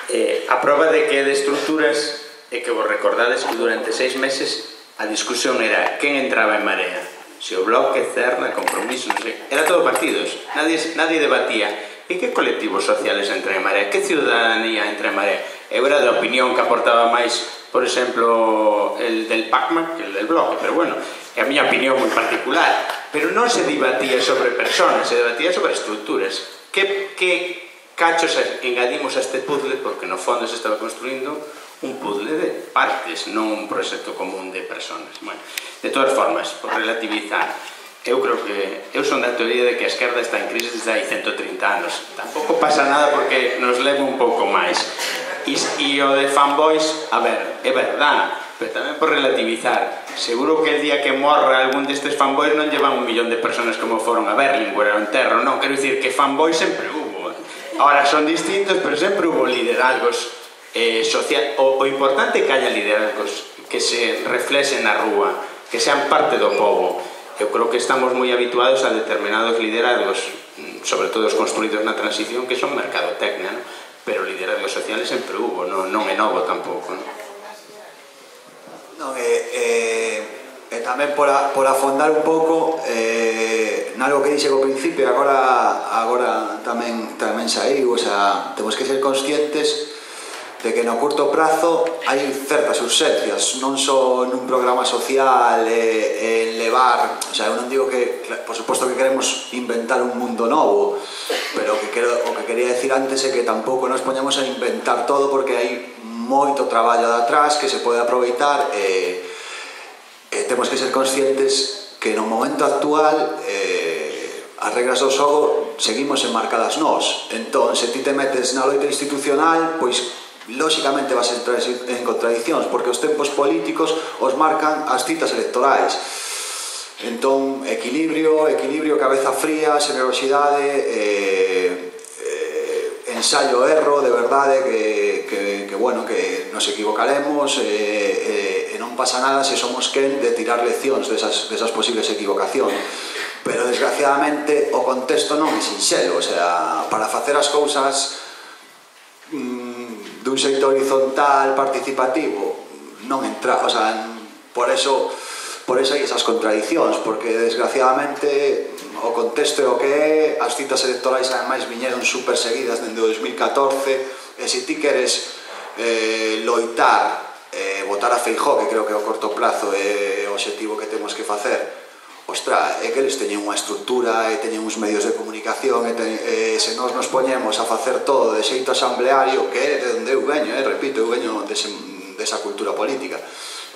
Eh, a prova de que de estruturas é que vos recordades que durante seis meses a discusión era quen entraba en Marea, se o Bloque, Cerna, Compromiso, non sei, era todo partidos, nadie, nadie debatía e que colectivos sociales entra en Marea, que ciudadanía entra en Marea. Eu era de opinión que aportaba máis, por exemplo, el del Pacma que el del Bloque, pero bueno, é a miña opinión moi particular, pero non se debatía sobre personas, se debatía sobre estruturas. Que, que cachos engadimos a este puzzle, porque no fondo se estaba construindo un puzzle de partes, non un proxecto común de personas. Bueno, de todas formas, por relativizar, eu creo que eu son da teoría de que a esquerda está en crisis desde hai ciento trinta anos. Tampouco pasa nada porque nos leva un pouco máis. E, e o de fanboys, a ver, é verdad, pero tamén por relativizar. Seguro que el día que morra algún destes fanboys non llevan un millón de personas como foron a Berlinguer ou a Enterro, non, quero dicir que fanboys sempre hubo. Ahora son distintos, pero sempre hubo liderazgos eh, social. O, o importante é que haya liderazgos que se reflexen na rúa, que sean parte do povo. Eu creo que estamos moi habituados a determinados liderazgos, sobre todo os construídos na transición, que son mercadotecnia, ¿no? Pero liderazgos sociales sempre hubo, non, non é novo tampouco, ¿no? Non, e, eh, e tamén por, a, por afondar un pouco eh, nalgo que dixe ao principio, agora, agora tamén, tamén saiu, o sea, temos que ser conscientes de que no curto prazo hai certas urxencias, non só nun programa social e, e levar, o sea, eu non digo que, por suposto que queremos inventar un mundo novo, pero que quero, o que quería decir antes é que tampouco nos poñamos a inventar todo, porque hai moito traballo de atrás que se pode aproveitar e, e temos que ser conscientes que no momento actual eh, as regras do xogo seguimos enmarcadas nós. Entón, se ti te metes na loita institucional, pois lóxicamente vas a entrar en contradiccións, porque os tempos políticos os marcan as citas electorais. Entón, equilibrio, equilibrio, cabeza fría, xenerosidade, eh, eh, ensaio erro, de verdade, que, que, que bueno, que nos equivocaremos e eh, eh, non pasa nada se somos quen de tirar leccións desas, desas posibles equivocacións. Pero desgraciadamente o contexto non é sinxelo, o sea, para facer as cousas mmm, dun xeito horizontal, participativo, non entra, o sea, por eso por eso hai esas contradicións, porque desgraciadamente o contexto é o que é, as citas electorais ademais viñeron super seguidas dende o dos mil catorce, e se ti queres eh, loitar, eh, votar a Feijóo, que creo que ao corto plazo é o objetivo que temos que facer, ostra, é que eles teñen unha estrutura e teñen uns medios de comunicación e, ten, e se nós nos poñemos a facer todo de xeito asambleario, que é de onde eu veño, eh, repito, eu veño dese, desa cultura política,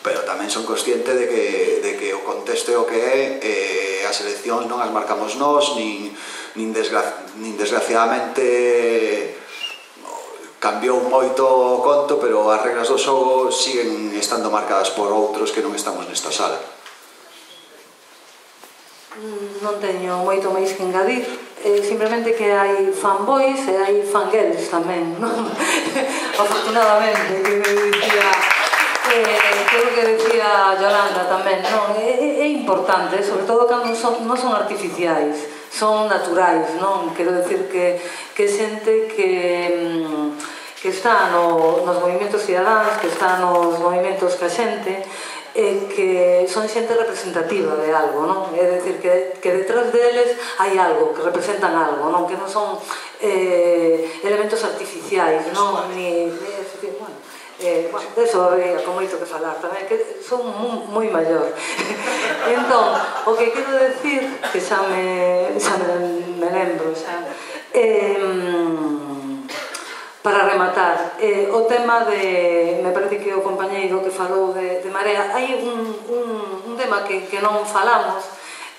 pero tamén son consciente de que, de que o contexto é o que é, e as eleccións non as marcamos nós, nin, nin, desgra, nin desgraciadamente cambiou moito o conto, pero as regras do xogo siguen estando marcadas por outros que non estamos nesta sala. Non teño moito máis que engadir, eh, simplemente que hai fanboys e hai fangirls tamén, non? Afortunadamente, que me dicía, eh, creo que decía Yolanda tamén, non? É, é importante, sobre todo cando son, non son artificiais, son naturais, non? Quero decir que, que xente que, que está no, nos movimentos cidadáns, que está nos movimentos ca xente, e que son xente representativa de algo, non? É dicir, que, que detrás deles hai algo, que representan algo, non? Que non son eh, elementos artificiais, non? Ni, ni decir, bueno, eh, bueno, deso habría con moito que falar tamén, que son moi maior. Entón, o que quero decir, que xa me, xa me, me lembro, xa, eh, para rematar, eh, o tema de, me parece que o compañeiro que falou de, de Marea, hai un, un, un tema que, que non falamos,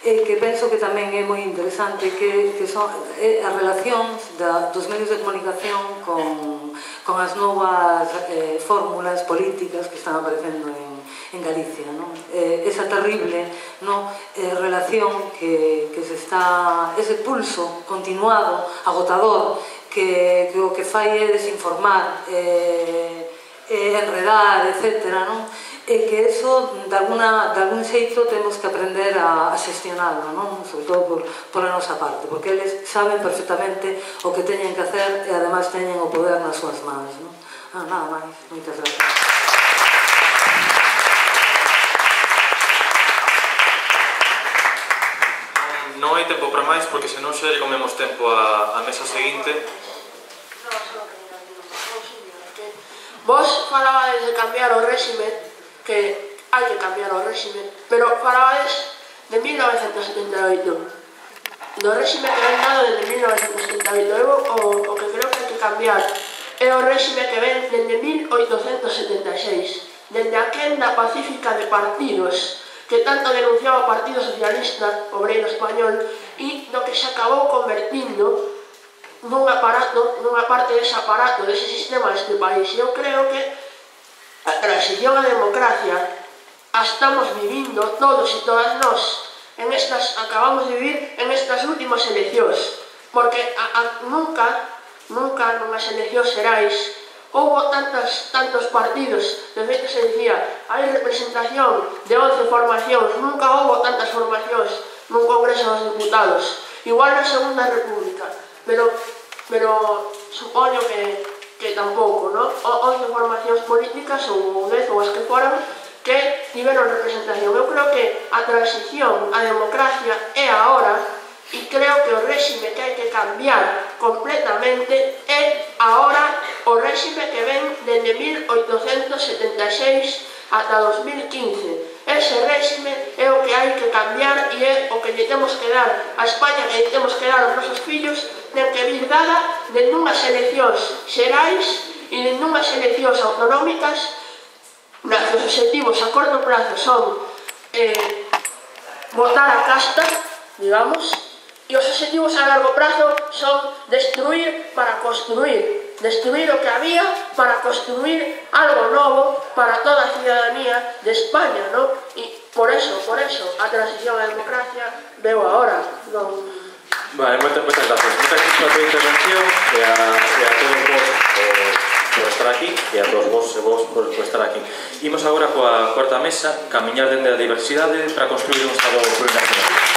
eh, que penso que tamén é moi interesante, que, que son eh, as relacións da, dos medios de comunicación con, con as novas eh, fórmulas políticas que están aparecendo en, en Galicia, non? Eh, esa terrible, non? Eh, relación que, que se está, ese pulso continuado, agotador, que, que o que fai é desinformar, eh, eh, enredar, etcétera, non? E que eso, de, alguna, de algún xeito, temos que aprender a, a xestionarlo, non? Sobre todo por, por a nosa parte, porque eles saben perfectamente o que teñen que hacer e ademais teñen o poder nas súas mans, non? Ah, nada máis, moitas gracias. Non hai tempo para máis, porque senón xa lle comemos tempo a, a mesa seguinte. Vos falabades de cambiar o réxime, que hai que cambiar o réxime, pero falabades de mil novecentos setenta e oito, do réxime que ven dado desde mil novecentos setenta e oito. Eu o, o que creo que hai que cambiar é o réxime que ven desde mil oitocentos setenta e seis, desde a quenda pacífica de partidos que tanto denunciaba o Partido Socialista Obreiro Español e do que se acabou convertindo nun aparato, nunha parte dese aparato, dese sistema deste país. Eu creo que a transición á democracia a estamos vivindo todos e todas nós, en estas, acabamos de vivir en estas últimas eleccións, porque a, a, nunca, nunca nunhas eleccións xerais houbo tantos, tantos partidos. De feito se dicía, hai representación de once formacións, nunca houbo tantas formacións nun Congreso dos Diputados, igual na Segunda República, pero, pero supoño que, que tampouco, non? once formacións políticas ou dez ou as que foran que tiveron representación. Eu creo que a transición á democracia é agora, e creo que o réxime que hai que cambiar completamente é agora o réxime que ven desde mil oitocentos setenta e seis ata dos mil quince. Ese réxime é o que hai que cambiar e é o que lle temos que dar a España, que lle temos que dar aos nosos fillos, ten que vir dada de nunhas eleccións xerais e de nunhas eleccións autonómicas. Os objetivos a corto plazo son eh, botar a casta, digamos, e os objetivos a largo prazo son destruir para construir, destruir o que había para construir algo novo para toda a ciudadanía de España, ¿no? E por eso, por eso, a transición á democracia veo agora. Non... Vale, moitas, moitas gracias. Moitas gracias pola tua intervención e a, e a todos vos eh, por estar aquí e a todos vos e vos por, por estar aquí. Imos agora coa cuarta mesa, camiñar dende a diversidade para construir un Estado plurinacional.